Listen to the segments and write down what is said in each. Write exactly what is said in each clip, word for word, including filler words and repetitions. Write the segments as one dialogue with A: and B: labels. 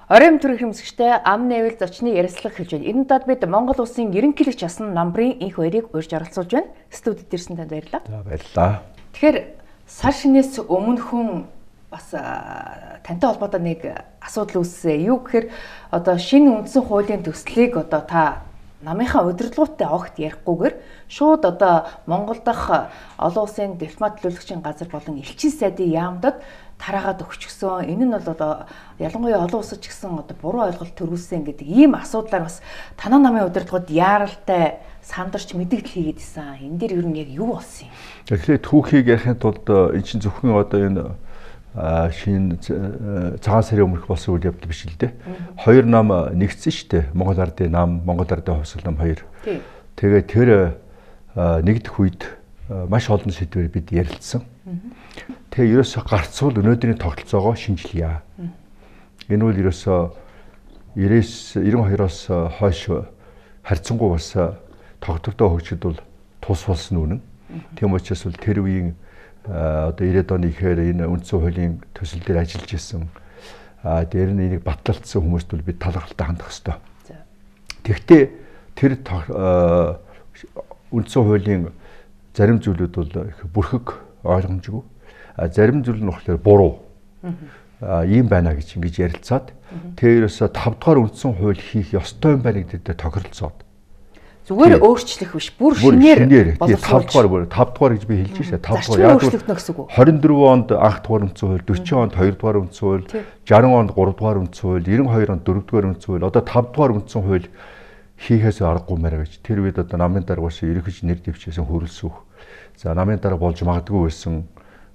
A: Оройн төрх хэмсэгчтэй ам нээвэл зочны ярилцлага хэлж байна. Энэ удаад бид Монгол улсын ерөнхийлөгч асан намрын энх хоёрыг урьж оролцуулж байна. Студид ирсэн танд баярлалаа.
B: За баярлалаа.
A: Тэгэхээр сар шинээс өмнө хүн бас тантай холбоотой нэг асуудал үүссэн. Юу гэхээр одоо шинэ үндсэн хуулийн төслийг одоо та намынхаа удирдлагуудтай огт ярихгүйгээр шууд одоо Монгол дахь олон улсын дипломат төлөөлөгчийн газар болон элчин сайдын яамдад тараагаад өгчихсөн. Энэ нь бол одоо ялангуяа олон улсад ч гэсэн одоо буруу ойлголт төрүүлсэн гэдэг ийм асуудлаар бас танаа намын удирдлагууд яаралтай сандарч мэдээлэл хийгээд исэн. Энэ дээр ер нь яг юу болсон юм?
B: Тэгэхээр түүхийг ярихын тулд эн чинь зөвхөн одоо энэ шинэ цагаан сарын өмнөх болсон үйл явдал биш л дээ. Хоёр нам нэгдсэн шүү дээ. Монгол Ардын нам, Монгол Ардын хувьсгал нам хоёр. Тэгээ тэр нэгдэх үед маш олон сэдвээр бид ярилцсан. Тэгээ ерөөсө гарцвал өнөөдрийн тогтолцоогоо шинжилье. Энэ үл ерөөсө девяносто двоос хойш харьцангуй бас тогтвортой хөгжид бол тус болсон үнэн. Тийм учраас бол тэр үеийн одоо девяносто оны ихээр энэ үндсэн хуулийн төсөл дээр ажиллаж исэн. А дээр нь энийг батлалцсан хүмүүст бол бид талархалтай хандах ёстой. Тэгвэл тэр үндсэн хуулийн зарим зүйлүүд бол их бүрхэг ойлгомжгүй. А зарим зүйл нь болохоор буруу. А ийм байна гэж ингэж ярилцаад тэрөөсө тав дахь үндсэн хууль хийх ёстой юм байна гэдэг тохиролцоод.
A: Зүгээр өөрчлөх биш, бүр шинээр
B: боловсруулж тав дахь тав дахь гэж би хэлж шээ. тав дахь яг двадцать дөрвөн онд анх дахь үндсэн хууль, сорок онд хоёр дахь үндсэн хууль, шейсдесят онд гурав дахь үндсэн хууль, девяносто хоёр онд дөрөв дахь үндсэн хууль, одоо тав дахь үндсэн хууль хийхээс аргагүй мэрэ гэж. Тэр үед одоо намын дарга бас ерөнхийч нэр дэвчээсэн хөрөлсөх. За намын дарга болж магадгүй байсан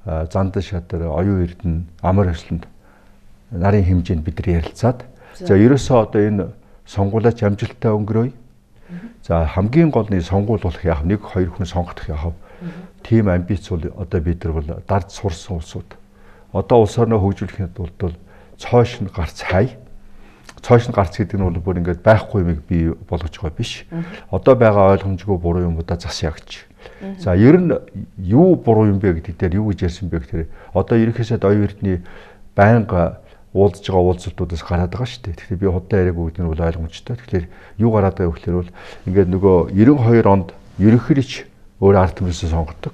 B: Зандан шатар, оюун эрдэнэ, амар хвшлэнд нарын хэмжээнд бид нар ярилцаад за ерөөсөө одоо энэ сонгуулаач амжилттай өнгөрөөе. За хамгийн гол нь сонгуул болох яах нэг хоёр хүн сонгох яах. Тийм амбиц бол одоо бид нар бол дард сурсан улсууд. Одоо улс орноо хөгжүүлэхэд бол цоош нь гарц хай. Цоош нь гарц гэдэг нь бол бүр ингээд байхгүй юмыг бий болгож байгаа биш. Одоо байгаа ойлгомжгүй буруу юмудаа засъя гэж. За ер нь юу буруу юм бэ гэдэг дээр юу гэж ярьсан бэ гэхээр одоо ерөнхийдөө оюун эрдний байнга уулзж байгаа уулзалтуудаас гараад байгаа шүү дээ. Тэгэхээр би худалдаа яриаг өгдөг нь бол ойлгомжтой. Тэгэхээр юу гараад байгаа вэ гэхээр бол ингээд нөгөө девяносто хоёр онд ерөнхийлөгч өөр ард түмнээс сонгодог.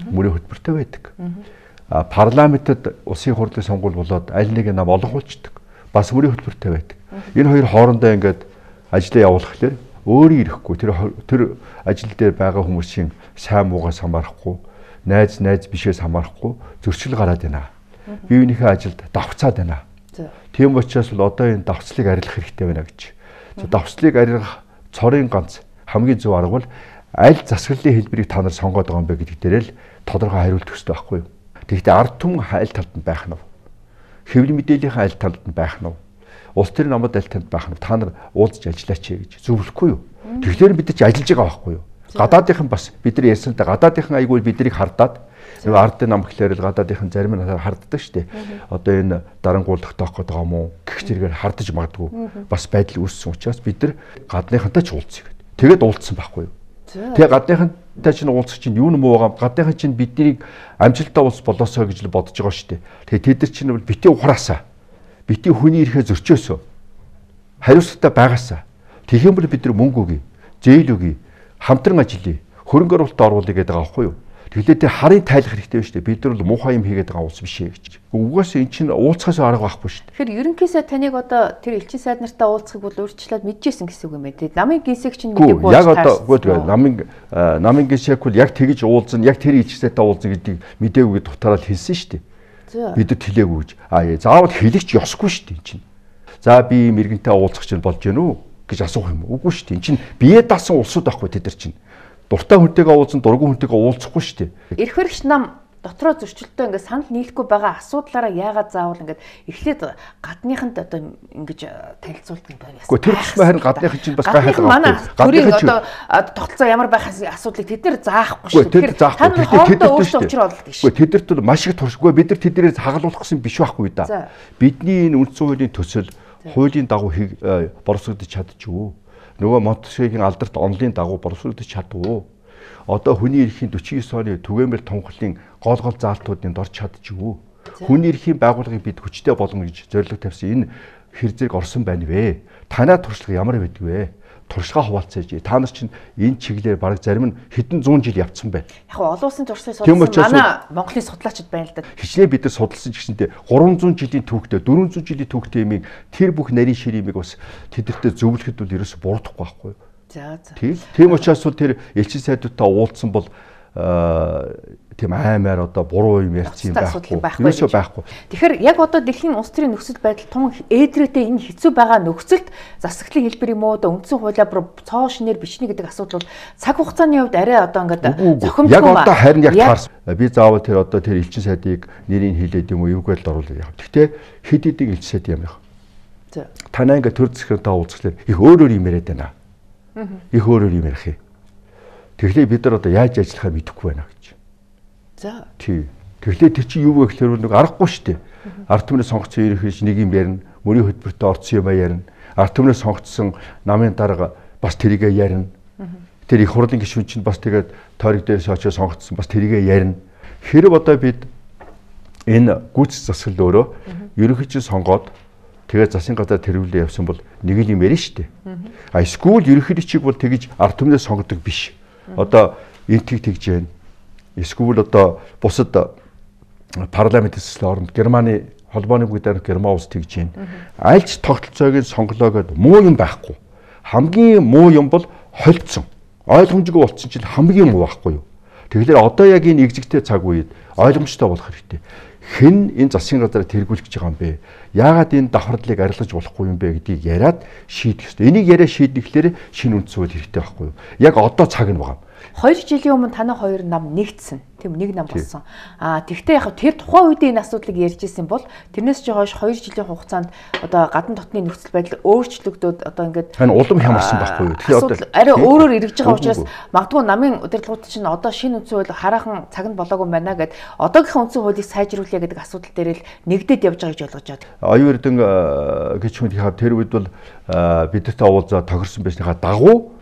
B: Мөрийн хөтөлбөртэй байдаг. А парламентэд улсын хурлын сонгуул болоод аль нэг нам олонхуулцдаг. Бас мөрийн хөтөлбөртэй байдаг. Энэ хоёр хоорондоо ингээд ажлаа явуулахлаар өөрийн ирэхгүй тэр тэр ажил дээр байгаа хүмүүсийн сайн муугаас хамаарахгүй, найз найз бишээс хамаарахгүй зөрчил гараад байна. Бие биенийхээ ажилд давхцаад байна. Тийм учраас бол одоо энэ давхцлыг арилгах хэрэгтэй байна гэж. Давхцлыг арилгах цорын ганц хамгийн зөв арга бол аль засаглалын хэлбэрийг та нар сонгоод байгаа юм бэ гэдэг дээр л тодорхой хариулт өгсөй байхгүй юу. Тэгэхдээ ард түмэн аль талд нь байх нь вэ? Хэвлэл мэдээллийн аль талд нь байх нь вэ? Улс төрийн намд аль талд байх нь та нар уулзж ажиллаач гэж зөвлөхгүй юу? Тэгэхээр бид ч ажиллаж байгаа байхгүй юу? Гадаадынхан бас бид нар ярьсантай гадаадынхан айгүй биднийг хардаад нөгөө ардын нам гэхлээр л гадаадынхан зарим нь харддаг шүү дээ. Одоо энэ дарангуулах тоох гэдэг юм уу? Гэх зэрэгээр хардаж магадгүй бас байдал үүссэн учраас бид нар гадныхантай ч уулзъя гэдэг. Тэгээд уулзсан байхгүй юу? Тэгээ гадныхантай чинь уулзах чинь юу нэмүү байгаа? Гадныхан чинь биднийг амжилттай уулз болоосоо гэж л бодож байгаа шүү дээ. Тэгээ тэд нар чинь бол бити ухраасаа. Бити хүний ирэхээ зөрчөөсөө. Хариуцлагатай байгаасаа. Тэгэх юм бол бид нар мөнгө өгье, зээл өгье, хамтран ажиллая, хөрөнгө оруулалт оруулъя гэдэг байгаа байхгүй юу? Тэгэхээр тэр харийн тайлах хэрэгтэй байна шүү дээ. Бид нар бол муухай юм хийгээд байгаа улс биш ээ гэж. Угаас эн чинь уулзахаас арга байхгүй шүү дээ.
A: Тэгэхээр ерөнхийдөө таныг одоо тэр элчин сайд нартай уулзахыг бол урьдчилаад мэдчихсэн гэсэн үг юм байна. Тэгээд намын гисэг чинь мэдээгүй
B: болж таарсан. Яг одоо үгүй намын намын гисэг бол яг тэгж уулзна, яг тэр элчин сайдтай уулзна гэдгийг мэдээгүй дутаараад хэлсэн шүү дээ. Бид нар тэлээгүй гэж. Аа заавал хэлэгч ёсгүй шүү дээ энэ чинь. За би мэрэгэнтэй уулзах чинь болж гэнэ үү гэж асуух юм. Үгүй шүү дээ. Энд чинь бие даасан улсууд байхгүй тэд нар чинь. Дуртай хүнтэйгээ уулзсан, дургүй хүнтэйгээ уулзахгүй шүү дээ.
A: Эрх баригч нам дотроо зөрчилтөө ингээд санал нийлэхгүй байгаа асуудлаараа яагаад заавал ингээд эхлээд гадныханд одоо ингэж танилцуулт юм байна.
B: Гэхдээ тэр тусмаа харин гадныхан чинь бас гайхаад
A: байгаа. Гадныхан одоо тогтолцоо ямар байх асуудлыг тэд нэр заахгүй шүү.
B: Тэгэхээр та нар
A: хоорондоо өөрсдөө учир олох гэж.
B: Гэхдээ тэдэрт бол маш их туршгүй. Бид нар тэднэрээс хагалуулсан биш байхгүй да. Бидний энэ үндсэн хуулийн төсөл хуулийн дагуу боловсрогдож чадчихв. Нөгөө Монтесquieuгийн алдарт онлын дагуу боловсрогдож чадв. Одоо хүний эрхийн сорок девять оны түгээмэл тунхлын гол гол заалтуудыг дорж чадчихв. Хүний эрхийн байгууллагыг бид хүчтэй болгоно гэж зорилго тавьсан. Энэ хэр зэрэг орсон байна вэ? Танай туршлага ямар байдаг вэ? Туршлагаа хуваалцаж та нар чинь энэ чиглэлээр бараг зарим нь хэдэн зуун жил явцсан байна.
A: Яг олон улсын туршлагыг судалсан манай Монголын судлаачид байна л да.
B: Хичнээн бид нар судалсан ч гэсэнтэй гурван зуун жилийн түүхтэй дөрвөн зуун жилийн түүхтэй юмыг тэр бүх нарийн шир юмыг бас тэдэртээ зөвлөхөд бол ерөөсө буруудахгүй байхгүй юу?
A: За за.
B: Тийм учраас бол тэр элчин сайдуудтай уулзсан бол тийм аймаар одоо буруу юм ярьсан юм байхгүй. Ерөөсөө байхгүй.
A: Тэгэхээр яг одоо дэлхийн улс төрийн нөхцөл байдал тун ээдрээтэй энэ хэцүү байгаа нөхцөлд засаглалын хэлбэр юм уу одоо үндсэн хуулиар цоо шинээр бичнэ гэдэг асуудал бол цаг хугацааны хувьд арай одоо ингээд зохимжгүй
B: яг одоо харин яг таарсан. Би заавал тэр одоо тэр элчин сайдыг нэрийг хэлээд юм уу эвгүй л оруулаад яв. Гэхдээ хэд хэдийн элчин сайд юм яах.
A: За.
B: Танаа ингээд төр засгийн уулзахлаар их өөр өөр юм яриад байна. Их өөр өөр юм ярих юм. Тэгэхээр бид нар одоо яаж ажиллахаа мэдэхгүй байна гэж.
A: За.
B: Тий. Тэгэхээр тэр чинь юу вэ гэхээр нэг аргагүй шүү дээ. Ард түмнээ сонгоцсон ирэх гэж нэг юм ярина. Мөрийн хөтөлбөртөө орцсон юм ярина. Ард түмнээ сонгоцсон намын дарга бас тэрийгэ ярина. Тэр их хурлын гишүүн чинь бас тэгээд тойрог дээрээс очиж сонгоцсон бас тэрийгэ ярина. Хэрэг одоо бид энэ гүйцэтгэх засаглал өөрөө ерөнхийдөө сонгоод тэгээд засгийн газар тэрвүүлээ явсан бол нэг л юм ярина шүү дээ. А эсвэл ерөнхийдөө бол тэгж ард түмнээ сонгодог биш. Одоо энтиг тэгж байна. Эсвэл одоо бусад парламент төсөл оронд Германы холбооны бүгдээр Герман улс тэгж байна. Аль ч тогтолцоог нь сонголоо гэд муу юм байхгүй. Хамгийн муу юм бол холцсон. Ойлгомжгүй болцсон чинь хамгийн муу байхгүй юу? Тэгэхээр одоо яг энэ экзэгтэй цаг үед ойлгомжтой болох хэрэгтэй. Хэн энэ засгийн газараа тэргүүлэх гэж байгаа юм бэ? Яагаад энэ давхардлыг арилгаж болохгүй юм бэ гэдгийг яриад шийдэх ёстой. Энийг яриа шийдэхлээр шинэ үндсэн хууль хэрэгтэй байхгүй юу? Яг одоо цаг нь байгаа.
A: Хоёр жилийн өмнө танай хоёр нам нэгдсэн. Тийм нэг нам болсон. Аа тэгвэл яг тэр тухайн үед энэ асуудлыг ярьж исэн бол тэрнээс ч хойш хоёр жилийн хугацаанд одоо гадна дотны нөхцөл байдал өөрчлөгдөөд одоо ингээд
B: хань улам хямарсан байхгүй юу?
A: Тэгэхээр одоо арай өөрөөр эргэж байгаа учраас магадгүй намын удирдлагууд чинь одоо шинэ үндсэн хууль хараахан цаг нь болоогүй байна гэд одоогийнхын үндсэн хуулийг сайжруулъя гэдэг асуудал дээр л нэгдээд явж байгаа гэж ойлгож байна.
B: Оюун эрдэн гişмэд тэр үед бол бидэртэй уулзаад тохирсон байсныхаа дагуу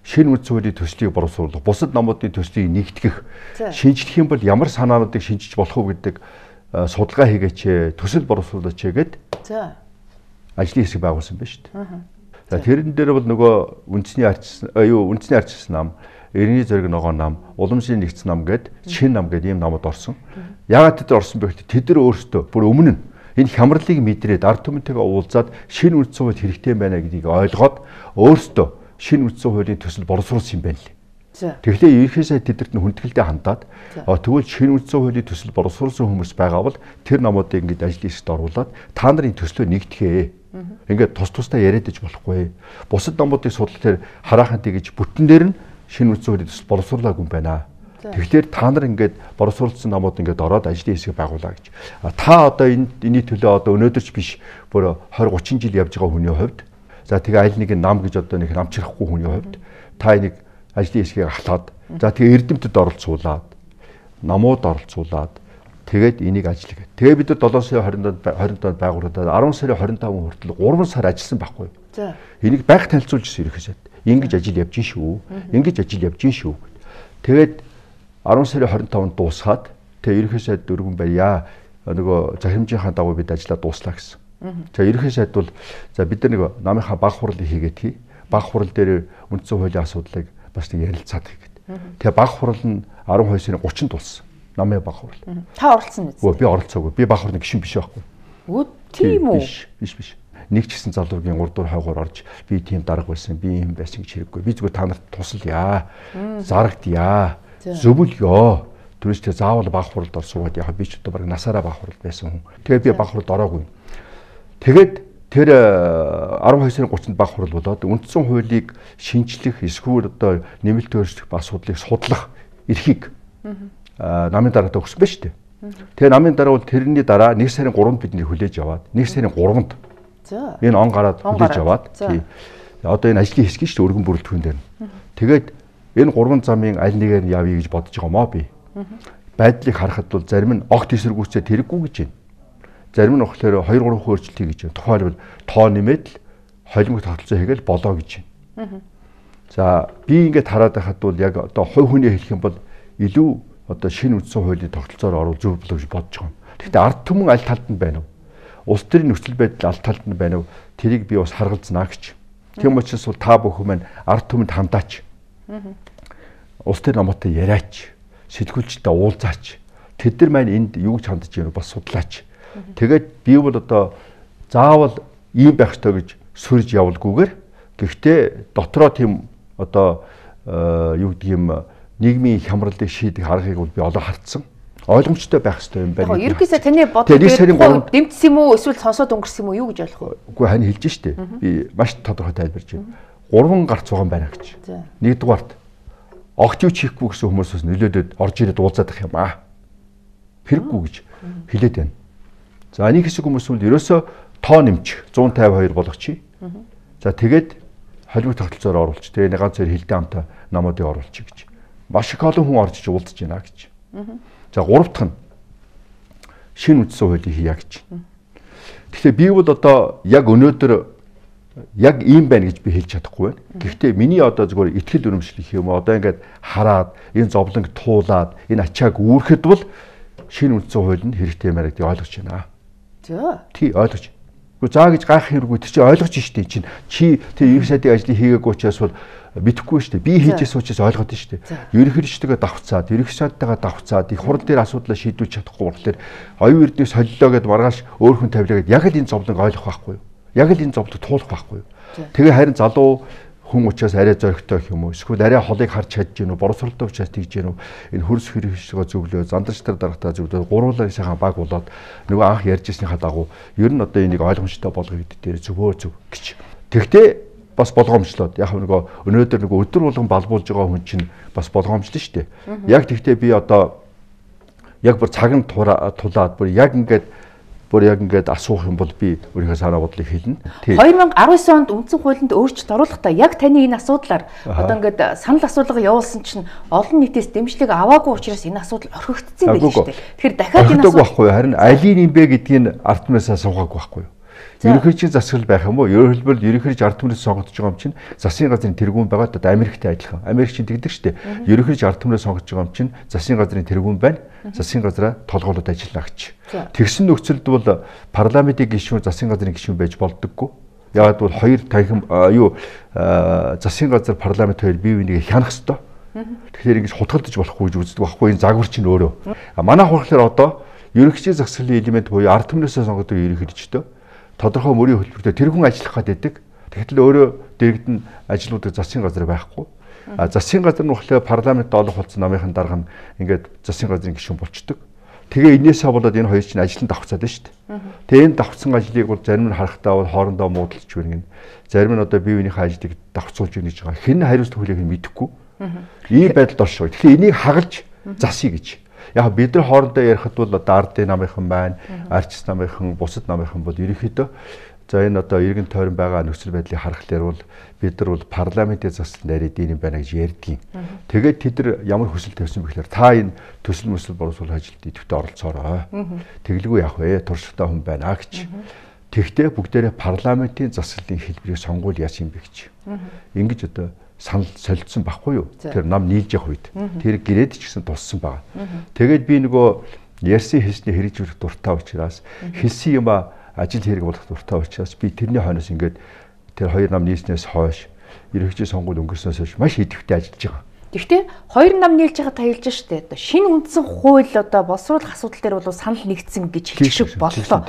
B: шинэ үндсэн хуулийн төслийг боловсруулах, бусад намуудын төслийг нэгтгэх, шинжлэх юм бол ямар санаануудыг шинжиж болох уу гэдэг судалгаа хийгээч, төсөл боловсруулаач гэд. За. Ажлын хэсэг байгуулсан байна шүү дээ. За тэрэн дээр бол нөгөө үндэсний арчсан, юу үндэсний арчсан нам, эртний зориг ногоон нам, уламжлалын нэгдсэн нам гэд шинэ нам гэд ийм намууд орсон. Яагаад тэд орсон бэ гэвэл тэд нар өөрсдөө бүр өмнө нь энэ хямралыг мэдрээд ард түмэнтэйгээ уулзаад шинэ үндсэн хууль хэрэгтэй байна гэдгийг ойлгоод өөрсдөө шинэ үндсэн хуулийн төсөл боловсруулсан юм байна лээ. Тэгэхээр ерөнхийдөө тэдэрт нь хүндгэлтэй хандаад тэгвэл шинэ үндсэн хуулийн төсөл боловсруулсан хүмүүс байгаа бол тэр намуудыг ингэж ажлын хэсэгт оруулаад та нарын төслөө нэгтгэе. Ингээд тус тустай яриад иж болохгүй. Бусад намуудыг судлахаар хараахан тэгж бүтэн дээр нь шинэ үндсэн хуулийн төсөл боловсруулаагүй юм байна. Тэгэхээр та нар ингээд боловсруулсан намууд ингээд ороод ажлын хэсэг байгуулаа гэж. Та одоо энэ энэний төлөө одоо өнөөдөр ч биш бүр двадцать тридцать жил явж байгаа хүний хувьд за тэгээ аль нэг нам гэж одоо нэг намчрахгүй хүний хувьд та энийг ажлын хэсгийг ахлаад за тэгээ эрдэмтэд оролцуулаад намууд оролцуулаад тэгээд энийг ажиллах. Тэгээ бид нар долоон сарын двадцать донд байгуулагдаад арван сарын двадцать пять хүртэл гурван сар ажилласан байхгүй юу? За. Энийг байг танилцуулж ирсэн ерөөсөө. Ингэж ажил явж гин шүү. Ингэж ажил явж гин шүү. Тэгээд арван сарын двадцать пятд дуусгаад тэгээ ерөнхий сайд дөрвөн байя нөгөө захирамжийнхаа дагуу бид ажиллаа дуслаа гэсэн. За ерөнхий сайд бол за бид нар нэг намынхаа баг хурлыг хийгээд хий. Баг хурал дээр үндсэн хуулийн асуудлыг бас нэг ярилцаад хийгээд. Тэгээ баг хурал нь арван хоёр сарын гуравчнд тулсан. Намын баг хурал.
A: Та оролцсон биз?
B: Өө би оролцоогүй. Би баг хурлын гишүүн биш байхгүй.
A: Өө тийм үү?
B: Биш биш биш. Нэг ч гэсэн залуугийн урд дур хойгоор орж би тийм дарга байсан, би юм байсан гэж хэрэггүй. Би зүгээр та нарт тусалъя. Зарагдъя. Зөвлөё. Түрүүс тэ заавал баг хуралд орсууд яг би ч одоо баг насаараа баг хуралд байсан хүн. Тэгээ би баг хуралд ороогүй. Тэгээд тэр арван хоёр сарын гуравчнд баг хурал болоод үндсэн хуулийг шинжлэх эсвэл одоо нэмэлт өөрчлөх асуудлыг судлах эрхийг намын дараатай өгсөн байна шүү дээ. Тэгээ намын дараа бол тэрний дараа нэг сарын гуравнд бидний хүлээж аваад нэг сарын гуравнд за энэ он гараад хүлээж аваад тий одоо энэ ажлын хэсэг шүү дээ өргөн бүрэлдэхүүн дээр. Тэгээд энэ гурван замын аль нэгээр явъя гэж бодож байгаа мó би. Байдлыг харахад бол зарим нь огт эсэргүүцээ тэрэггүй гэж байна. Зарим нь болохоор хоёр гурван өөрчлөлт хийж байна. Тухайлбал тоо нэмээд л холимог тогтолцоо хийгээл болоо гэж байна. За би ингээд хараад байхад бол яг одоо хувь хүний хэлэх юм бол илүү одоо шинэ үндсэн хуулийн тогтолцоор орвол зөв болоо гэж бодож байгаа юм. Гэхдээ ард түмэн аль талд нь байна вэ? улс төрийн нөхцөл байдал аль талд нь байна вэ? Тэрийг би бас харгалзнаа гэж. Тийм учраас бол та бүхэн маань ард түмэнд хандаач. Улс төр намаатай яриач, сэтгүүлчтэй уулзаач. Тэд нар маань энд юу гэж хандж байна бас судлаач. Тэгээд би бол одоо заавал ийм байх ёстой гэж сөрж явуулгүйгээр гэхдээ дотроо тийм одоо юу гэдэг юм нийгмийн хямралыг шийдэх аргыг бол би олоо хартсан. Ойлгомжтой байх ёстой юм байна.
A: Яг ерөөсөө таны бодлого дэмжсэн юм уу эсвэл сонсоод өнгөрсөн юм уу юу гэж ойлгох вэ?
B: Үгүй хань хэлж штэ. Би маш тодорхой тайлбарж байна. Гурван гарц байгаа юм байна гэж. Нэгдүгээрт огт юу чихгүй гэсэн хүмүүсээс нөлөөлөд орж ирээд уулзаад ах юм аа. Хэрэггүй гэж хэлээд байна. За нэг хэсэг хүмүүс бол ерөөсөө тоо нэмчих зуун тавь хоёр болгочих. За тэгээд холимог тогтолцоор оруулчих. Тэгээ нэг ганц хоёр хилдэ амтай намуудыг оруулчих гэж. Маш их олон хүн орж иж уулзаж байна гэж. За гурав дахь нь шинэ үндсэн хуулийг хийя гэж. Тэгэхээр би бол одоо яг өнөөдөр яг ийм байна гэж би хэлж чадахгүй байна. Гэхдээ миний одоо зөвхөн итгэл үнэмшлэх юм одоо ингээд хараад энэ зовлонг туулаад энэ ачааг үүрэхэд бол шинэ үндсэн хууль нь хэрэгтэй маяг гэдгийг ойлгож байна.
A: За.
B: Тий ойлгож. Гэхдээ заа гэж гайх хэрэггүй тэр чинь ойлгож штэ чинь чи тэр ерөнхий сайдын ажлыг хийгээгүй учраас бол мэдхгүй штэ би хийжсэн учраас ойлгоод штэ. Ерөнхийлөгчдөө давхцаад ерөнхий сайдтайгаа давхцаад их хурл дээр асуудлаа шийдүүлж чадахгүй болохоор оюун эрдэнэ солилоо гэд маргааш өөр хүн тавилаа гэд яг л энэ зовлонг ойлгох байхгүй юу? Яг л энэ зовлонг туулах байхгүй юу? Тэгээ харин залуу хүн учраас арай зоригтой гэх юм уу? Эсвэл арай холыг харж чадж гэнэ үү? Боровсралтай учраас тэгж гэнэ үү? Энэ хөрс хэрэгшгээ зөвлөө, зандарч төр дарагтаа зөвлөө, гурвуулаа сайхан баг болоод нөгөө анх ярьжсэнийхаа дагуу ер нь одоо энийг ойлгомжтой болгоё гэдэг дээр зөвөө зөв гэж. Тэгвэл бас болгоомжлоод яг нөгөө өнөөдөр нөгөө өдөр болгон балбуулж байгаа хүн чинь бас болгоомжлон шүү дээ. Яг тэгтээ би одоо яг бүр цаг нь тулаад бүр яг ингээд бүр яг ингээд асуух юм бол би өөрийнхөө санаа бодлыг хэлнэ.
A: две тысячи десять онд үндсэн хуулинд өөрчлөлт оруулахдаа яг таны энэ асуудлаар одоо ингээд санал асуулга явуулсан чинь олон нийтээс дэмжлэг аваагүй учраас энэ асуудал орхигдсон байх шүү дээ. Тэгэхээр дахиад энэ асуудал
B: байхгүй харин алийг юм бэ гэдгийг ард түмнээс асуугаагүй байхгүй юу? Ерөнхийлөгчийн засаглал байх юм уу? Ерөнхийдөө ерөнхийлөгч ард түмнээс сонгогдож байгаа юм чинь засгийн газрын тэргүүн байгаа. Одоо Америктэй адилхан. Америк чинь тэгдэг шүү дээ. Ерөнхийлөгч ард түмнээс сонгогдож байгаа юм чинь засгийн газрын тэргүүн байна. Засгийн газраа толгоолоод ажиллана гэж. Тэгсэн нөхцөлд бол парламентын гишүүн засгийн газрын гишүүн байж болдоггүй. Яагаад бол хоёр танхим юу засгийн газар парламент хоёр бие биенийг хянах ёстой. Тэгэхээр ингэж хутгалдаж болохгүй гэж үздэг байхгүй энэ загвар чинь өөрөө. Манай хурлаар одоо ерөнхийлөгчийн засаглалын элемент буюу ард түмнээс сонгогддог ерөнхийлөгчтэй тодорхой мөрийн хөтөлбөртөө тэр хүн ажиллах гэдэг. Тэгэхдээ өөрөө дэрэгдэн ажлуудыг засгийн газар байхгүй. А засгийн газар нь болохоор парламент олох болсон намынхан дарга нь ингээд засгийн газрын гишүүн болчдөг. Тэгээ энээсээ болоод энэ хоёр чинь ажилд давхцаад байна шүү дээ. Тэгээ энэ давхцсан ажлыг бол зарим нь харахтаа бол хоорондоо муудалж байна гин. Зарим нь одоо бие биенийхээ ажлыг давхцуулж өгнө гэж байгаа. Хэн хариуцлага хүлээх нь мэдэхгүй. Ийм байдалд оршоо. Тэгэхээр энийг хагалж засъя гэж. Яг бид нар хоорондоо ярихад бол одоо ардын намынхан байна, арчс намынхан, бусад намынхан бол ерөнхийдөө за энэ одоо иргэн тойрон байгаа нөхцөл байдлыг харахаар бол бид нар бол парламентын засал нарийн дийн байна гэж ярьдгийн. Тэгээд тэд нар ямар хүсэл тавьсан бэ гэхээр та энэ төсөл мөсөл боловсрол ажилд идэвхтэй оролцоорой. Тэглгүй явах вэ? Туршлагатай хүн байна гэж. Тэгвэл бүгдээрээ парламентын засаглалын хэлбэрийг сонгуул яасан юм бэ гэж. Ингэж одоо санал солилцсон байхгүй юу? Тэр нам нийлж явах үед. Тэр гэрээд ч гэсэн туссан байгаа. Тэгээд би нөгөө ярьсан хэлсний хэрэгжүүлэх дуртай учраас хэлсэн юм ажил хэрэг болох дуртай учраас би тэрний хойноос ингээд тэр хоёр нам нийснээс хойш ерөнхий сонгуул өнгөрснөөс хойш маш идэвхтэй ажиллаж байгаа.
A: Гэхдээ хоёр нам нийлж байгаа та хэлж штэ. Одоо шинэ үндсэн хууль одоо боловсруулах асуудал дээр бол санал нэгдсэн гэж хэлчих шиг боллоо.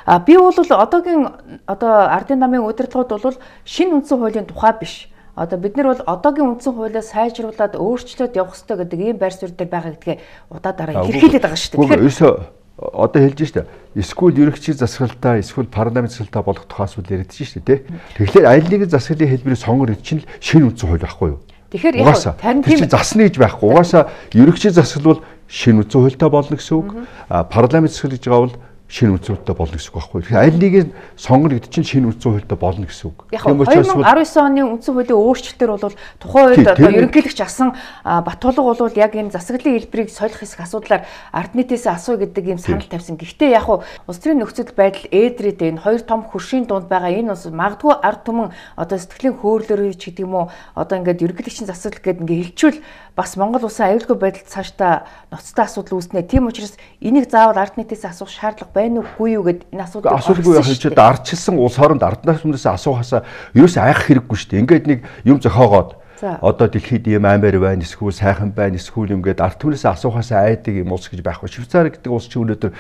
A: А би бол одоогийн одоо ардын намын удирдлагууд бол шинэ үндсэн хуулийн тухай биш. Одоо бид нар бол одоогийн үндсэн хуулиа сайжруулад өөрчлөлт явах хэрэгтэй гэдэг ийм байр суурь дээр байгаа гэдгээ удаа дараа илэрхийлээд байгаа шүү дээ.
B: Тэгэхээр одоо хэлж штэ. Эсвэл ерөнхий засаглалтаа, эсвэл парламент засаглалтаа болох тухай асуудал яригдчих штэ тий. Тэгэхээр аль нэгэн засаглалын хэлбэрийг сонгор гэж чинь шинэ үндсэн хууль байхгүй юу?
A: Тэгэхээр яг
B: харин тийм засна гэж байхгүй. Угаасаа ерөнхий засаглал бол шинэ үндсэн хуультай болно гэсэн үг. А парламент засаглал гэж байгаа бол шинэ үндсэн хуультай болно гэсэн үг байхгүй. Тэгэхээр аль нэг нь сонгоно гэдэг чинь шинэ үндсэн хуультай болно гэсэн үг.
A: Тийм учраас две тысячи десять оны үндсэн хуулийн өөрчлөлтөөр бол тухайн үед одоо ерөнхийлөгч асан Батулга бол яг энэ засаглалын хэлбэрийг солих хэсэг асуудлаар ард нийтээс асууя гэдэг юм санал тавьсан. Гэхдээ яг уу улс төрийн нөхцөл байдал ээдрээд энэ хоёр том хөршийн дунд байгаа энэ бас магадгүй ард түмэн одоо сэтгэлийн хөөрлөөр ч гэдэг юм уу одоо ингээд ерөнхийлөгчийн засаглал гэдэг ингээд хэлчүүл бас Монгол улсын аюулгүй байдалд цаашдаа ноцтой асуудал үүснэ. Тийм учраас энийг заавал ард нийтээс асуух шаардлага байна уугүй юу гэд энэ асуудал
B: асуудалгүй яах гэж ардчилсан улс хооронд арднаас өмнөөс асуухаасаа ерөөсөө айх хэрэггүй шүү дээ. Ингээд нэг юм зохиогоод одоо дэлхийд ийм аймаар байна, эсвэл сайхан байна, эсвэл юм гээд ард түмнээс асуухаасаа айдаг юм улс гэж байхгүй. Швейцар гэдэг улс чинь өнөөдөр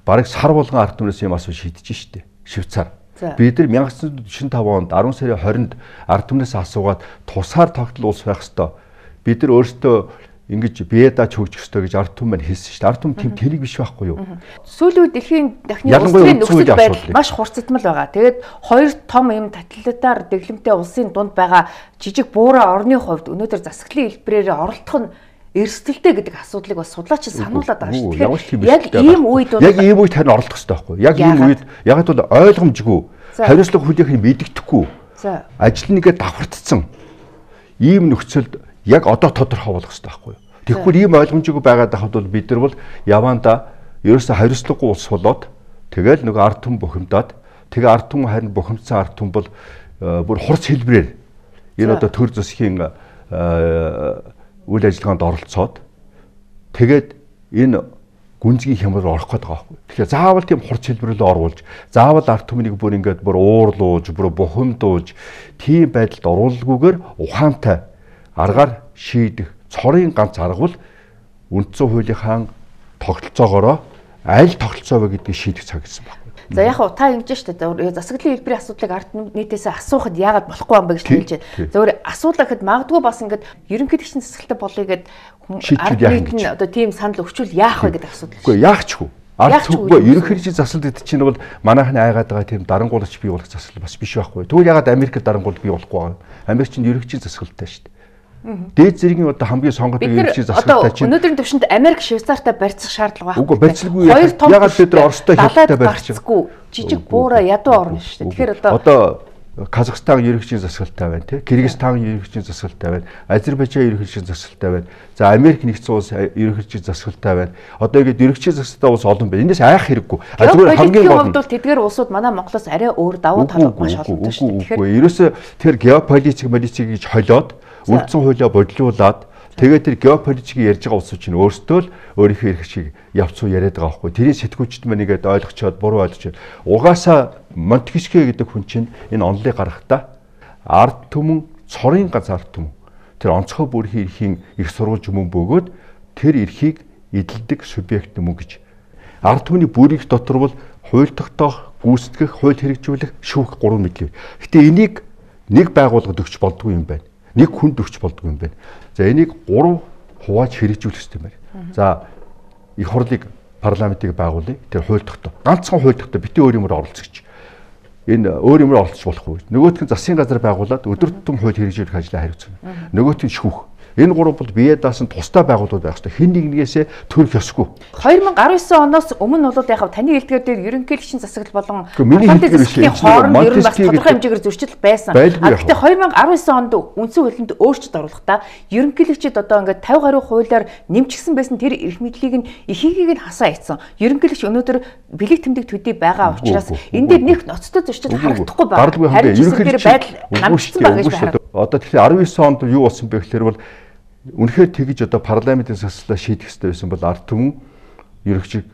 B: бараг сар болгон ард түмнээс юм асуу шийдэж штэ. Швейцар. Бид нар 천구 шин таван онд арван сарын хорионд ард түмнээс асуугаад тусаар тогтол улс байх хэвээр. Бид нар өөрсдөө ингэж биедаа чөгжих ёстой гэж ард түмэн хэлсэн шүү дээ. Ард түмэн тэм тэрийг биш байхгүй юу?
A: Сүүлийн үед дэлхийн дахны улсын нөхцөл байдал маш хурцтмал байгаа. Тэгээд хоёр том юм тоталитар дэглэмтэй улсын дунд байгаа жижиг буураа орны хувьд өнөөдөр засаглалын хэлбэрээр оролцох нь эрсдэлтэй гэдэг асуудлыг бас судлаач сануулад байгаа шүү дээ. Яг ийм үед бол
B: яг ийм үед харин оролцох хэрэгтэй байхгүй юу? Яг ийм үед яг бол ойлгомжгүй, хариуцлага хүлээх нь мэддэхгүй. Ажил нэгээ давхардсан ийм нөхцөлд яг одоо тодорхой болох хэрэгтэй байхгүй юу? Тэгэхгүй ийм ойлгомжгүй байгаад байхад бол бид нар бол явандаа ерөөсөө хариуцлагагүй улс болоод тэгэл нөгөө ард түмэн бухимдаад тэгээ ард түмэн харин бухимдсан ард түмэн бол бүр хурц хэлбэрээр энэ одоо төр засгийн үйл ажиллагаанд оролцоод тэгээд энэ гүнзгий хямрал орох гээд байгаа байхгүй. Тэгэхээр заавал тийм хурц хэлбэрээр оруулж, заавал ард түмнийг бүр ингээд бүр уурлуулж, бүр бухимдуулж тийм байдалд оруулалгүйгээр ухаантай аргаар шийдэх цорын ганц арга бол үндсэн хуулийнхаа тогтолцоогоороо аль тогтолцоо вэ гэдгийг шийдэх цаг гэсэн байна.
A: За яг хуу та ингэж штэ засаглалын хэлбэрийн асуудлыг ард нийтээс асуухад яагаад болохгүй юм бэ гэж хэлж байна. За өөр асуулаа гэхэд магадгүй бас ингээд ерөнхийлөгчийн засаглалтай болъё гэд ард нийт нь одоо тийм санал өгчүүл яах вэ гэдэг асуудал.
B: Үгүй яахчгүй. Ард түмгүй ерөнхийлөгчийн засаглал гэдэг чинь бол манайхны айгаад байгаа тийм дарангуулагч бий болох засаглал бас биш байхгүй. Тэгвэл яагаад Америкт дарангуул бий болохгүй юм? Америк чинь ерөнхийлөгчийн засаглалтай штэ. Дээд зэргийн одоо хамгийн сонгоод ерөнхийлөгчийн засаглалтай чинь
A: өнөөдрийн төвшөнд Америк Швейцартай барьцах шаардлага
B: байхгүй. Үгүй барьцалгүй ягаад бид нар Оростой хэлтэй
A: барьчихгүй жижиг буураа ядуу орно шүү дээ. Тэгэхээр одоо
B: одоо Казахстан ерөнхийлөгчийн засаглалтай байна тий. Кыргызстан ерөнхийлөгчийн засаглалтай байна. Азербайджан ерөнхийлөгчийн засаглалтай байна. За Америк нэгдсэн улс ерөнхийлөгчийн засаглалтай байна. Одоо ингэж ерөнхийлөгчийн засаглалтай улс олон байна. Энэс айх хэрэггүй.
A: А зүгээр хамгийн гол нь тэдгээр улсууд манай Монголоос арай өөр давуу тал маш олонтой шүү дээ.
B: Тэгэхээр ерөөсөө тэр геополитик политик гэж холиод үндсэн хуулиа бодлуулад тэгээд тэр геополитикийг ярьж байгаа улсууд чинь өөрсдөө л өөрийнхөө эрх чиг явцуу яриад байгаа байхгүй. Тэрийн сэтгүүлчд маань нэгэд ойлгочоод буруу ойлгочоод угаасаа Монтескье гэдэг хүн чинь энэ онлыг гаргахдаа ард түмэн цорын ганц ард түмэн тэр онцгой бүрхийн эрхийн их сурвалж мөн бөгөөд тэр эрхийг эдэлдэг субъект мөн гэж. Ард түмний бүрийнх дотор бол хууль тогтоох, гүйцэтгэх, хууль хэрэгжүүлэх, шүүх гурван мэдлэг. Гэтэ энийг нэг байгууллагад өгч болдгүй юм байна. Нэг хүнд өгч болдгүй юм байна. За энийг гурав хувааж хэрэгжүүлэх хэрэгтэй юм байна. За их хурлыг парламентыг байгуулъя. Тэр хууль тогтоо. Ганцхан хууль тогтоо битээ өөр юмар оролцогч. Энэ өөр юмар оролцож болохгүй. Нөгөөх нь засгийн газар байгуулад өдөр тутам хууль хэрэгжүүлэх ажлаа хариуцна. Нөгөөх нь шүүх. Энэ гурав бол бие даасан тусдаа байгууллагууд байх хэрэгтэй. Хин нэгнээсээ төрөх ёсгүй.
A: две тысячи девятнадцать оноос өмнө бол яг таны хэлдгээр дээр ерөнхийлөгчийн засаглал болон
B: парламентын засаглалын
A: хооронд ер нь бас тодорхой хэмжээгээр зөрчил байсан. А гэхдээ две тысячи девятнадцать онд үндсэн хуулинд өөрчлөлт оруулахдаа ерөнхийлөгчид одоо ингээд пятьдесят гаруй хуулиар нэмчихсэн байсан тэр эрх мэдлийг нь ихийг нь хасаа ийцэн. Ерөнхийлөгч өнөөдөр бэлэг тэмдэг төдий байгаа учраас энэ дээр нэг ноцтой зөрчил харагдахгүй байна. Харин ерөнхийлөгч байдал хангалтсан байгаа гэж байна.
B: Одоо тэгэхээр девятнадцать онд юу болсон бэ гэхээр бол үнэхээр тэгж одоо парламентын засаглалаа шийдэх хэрэгтэй байсан бол ард түмэн ерөнхийг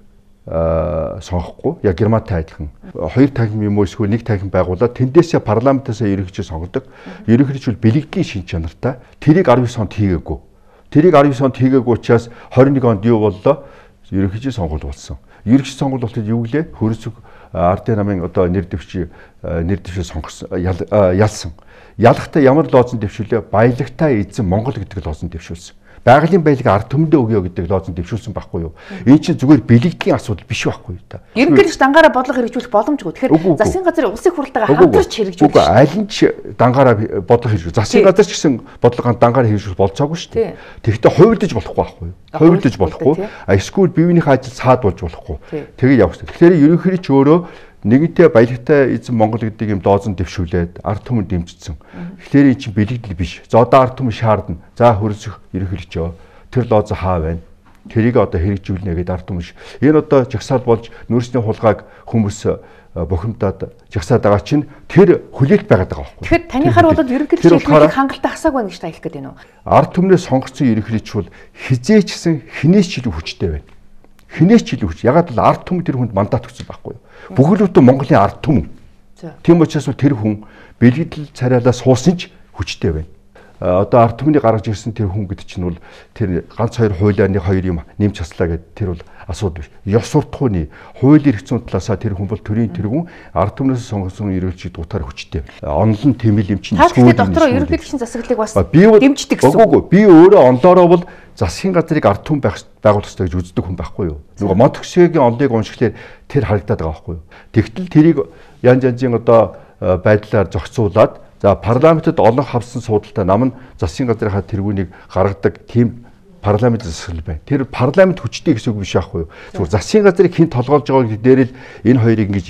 B: сонгохгүй. Яг Германтай адилхан хоёр танхим юм уу эсвэл нэг танхим байгуулаад тэндээсээ парламентаасаа ерөнхийг сонгодог. Ерөнхийч бол бэлэгдлийн шин чанартай. Тэрийг девятнадцать онд хийгээгүй. Тэрийг девятнадцать онд хийгээгүй учраас двадцать one онд юу боллоо? Ерөнхийч сонгуул болсон. Ерөнхий сонгуул болтол юу гэлээ? Хөрсөг ардын намын одоо нэр дэвши нэр дэвшээ сонгосон ялсан. Ялахтаа ямар лозон дэвшүүлээ? Баялагтай эзэн Монгол гэдэг лозон дэвшүүлсэн. Байгалийн баялаг ард түмэндээ өгье гэдэг лозон дэвшүүлсэн байхгүй юу? Энэ чинь зүгээр бэлэгдлийн асуудал биш байхгүй юу та.
A: Ерөнхийдөө дангаараа бодлого хэрэгжүүлэх боломжгүй. Тэгэхээр засгийн газрын улсын хурлтайгаа хамтарч хэрэгжүүлэх.
B: Үгүй аль нь ч дангаараа бодлого хэрэгжүүл. Засгийн газар ч гэсэн бодлогоо дангаараа хэрэгжүүлэх болцоогүй шүү дээ. Тэгэхдээ хувилдаж болохгүй байхгүй юу? Хувилдаж болохгүй. А эсвэл биеийнхээ ажил саад болж болохгүй. Тэгээ явах хэрэгтэй. Тэгэхээр ерөнхийдөө ч өөрөө нэгэнтээ баялагтай эзэн Монгол гэдэг юм доозон дэвшүүлээд ард түмэн дэмжсэн. Тэгэхээр эн чинь бэлэгдэл биш. За одоо ард түмэн шаардна. За хөрсөх ерөнхийлөгчөө тэр лозо хаа байна. Тэрийг одоо хэрэгжүүлнэ гэдэг ард түмэн ш. Энэ одоо жагсаал болж нөөцний хулгайг хүмүүс бухимдаад жагсаад байгаа чинь тэр хүлээлт байгаад байгаа байхгүй.
A: Тэгэхээр таныхаар бол ерөнхийлөгчийн хэлбэрийг хангалттай хасаагүй байна гэж та хэлэх гээд байна уу?
B: Ард түмнээ сонгогдсон ерөнхийлөгч бол хизээчсэн хинээс ч илүү хүчтэй байна. Хинээс ч илүү хүч. Ягаад бол ард түмэн тэр хүнд мандат өгсөн байхгүй юу? Бүхэл бүтэн Монголын ард түмэн. Тийм учраас тэр хүн бэлгэдэл царайлаа суусан ч хүчтэй байна. Одоо ард түмний гаргаж ирсэн тэр хүн гэдэг чинь бол тэр ганц хоёр хуулиар нэг хоёр юм нэмж хаслаа гэдэг тэр бол асуудал биш. Ёс суртахууны хууль эрх зүйн талаасаа тэр хүн бол төрийн тэргүүн ард түмнээс сонгосон ерөнхийлөгчид утгаар хүчтэй. Онлон тэмэл юм чинь
A: эсвэл дотроо ерөнхийлөгчийн засаглалыг бас дэмждэг гэсэн.
B: Үгүй би өөрөө онлоороо бол засгийн газрыг ард түмэн байгуулах хэрэгтэй гэж үздэг хүн байхгүй юу? Нөгөө Монтекшигийн онлыг уншихлаар тэр харагдаад байгаа байхгүй юу? Тэгтэл тэрийг янз янзын одоо байдлаар зохицуулаад за парламентэд олон хавсан суудалтай нам нь засгийн газрынхаа тэргүүнийг гаргадаг тийм парламент засаглал байна. Тэр парламент хүчтэй гэсэн үг биш аахгүй юу? Зүгээр засгийн газрыг хэн толгоолж байгааг дээр л энэ хоёрыг ингэж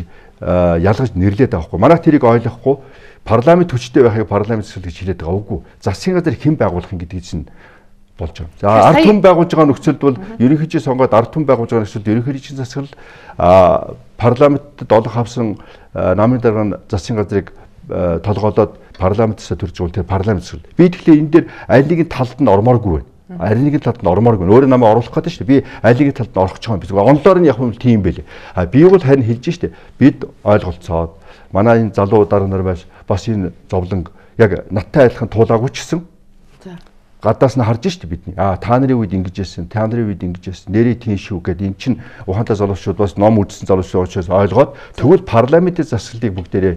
B: ялгаж нэрлээд байгаа байхгүй. Манайх тэрийг ойлгохгүй парламент хүчтэй байхыг парламент засаглал гэж хэлээд байгаа үгүй. Засгийн газрыг хэн байгуулах юм гэдгийг чинь болж байгаа. За ард түмэн байгуулж байгаа нөхцөлд бол ерөнхийдөө сонгоод ард түмэн байгуулж байгаа нөхцөлд ерөнхийлөгчийн засаглал а парламентэд олон хавсан намын дарга нь засгийн газрыг толгоолоод парламентээс төрж байгаа тэр парламент засаглал. Би тэгэхээр энэ дээр аль нэгэн талд нь ормооргүй байна. Аль нэгэн талд нь ормооргүй. Өөрөө намайг оруулах гэдэг шүү дээ. Би аль нэгэн талд нь орох гэж байгаа юм. Онлоор нь яг юм тийм байлээ. А би бол харин хэлж шүү дээ. Бид ойлголцоод манай энэ залуу дарга нар байж бас энэ зовлон яг надтай адилхан туулаагүй ч гэсэн гадаас нь харж шүү дээ бидний. А та нарын үед ингэж байсан, та нарын үед ингэж байсан. Нэрээ тийм шүү гэдэг эн чинь ухаантай залуучууд бас ном үзсэн залуучууд учраас ойлгоод тэгвэл парламентын засаглалыг бүгдээрээ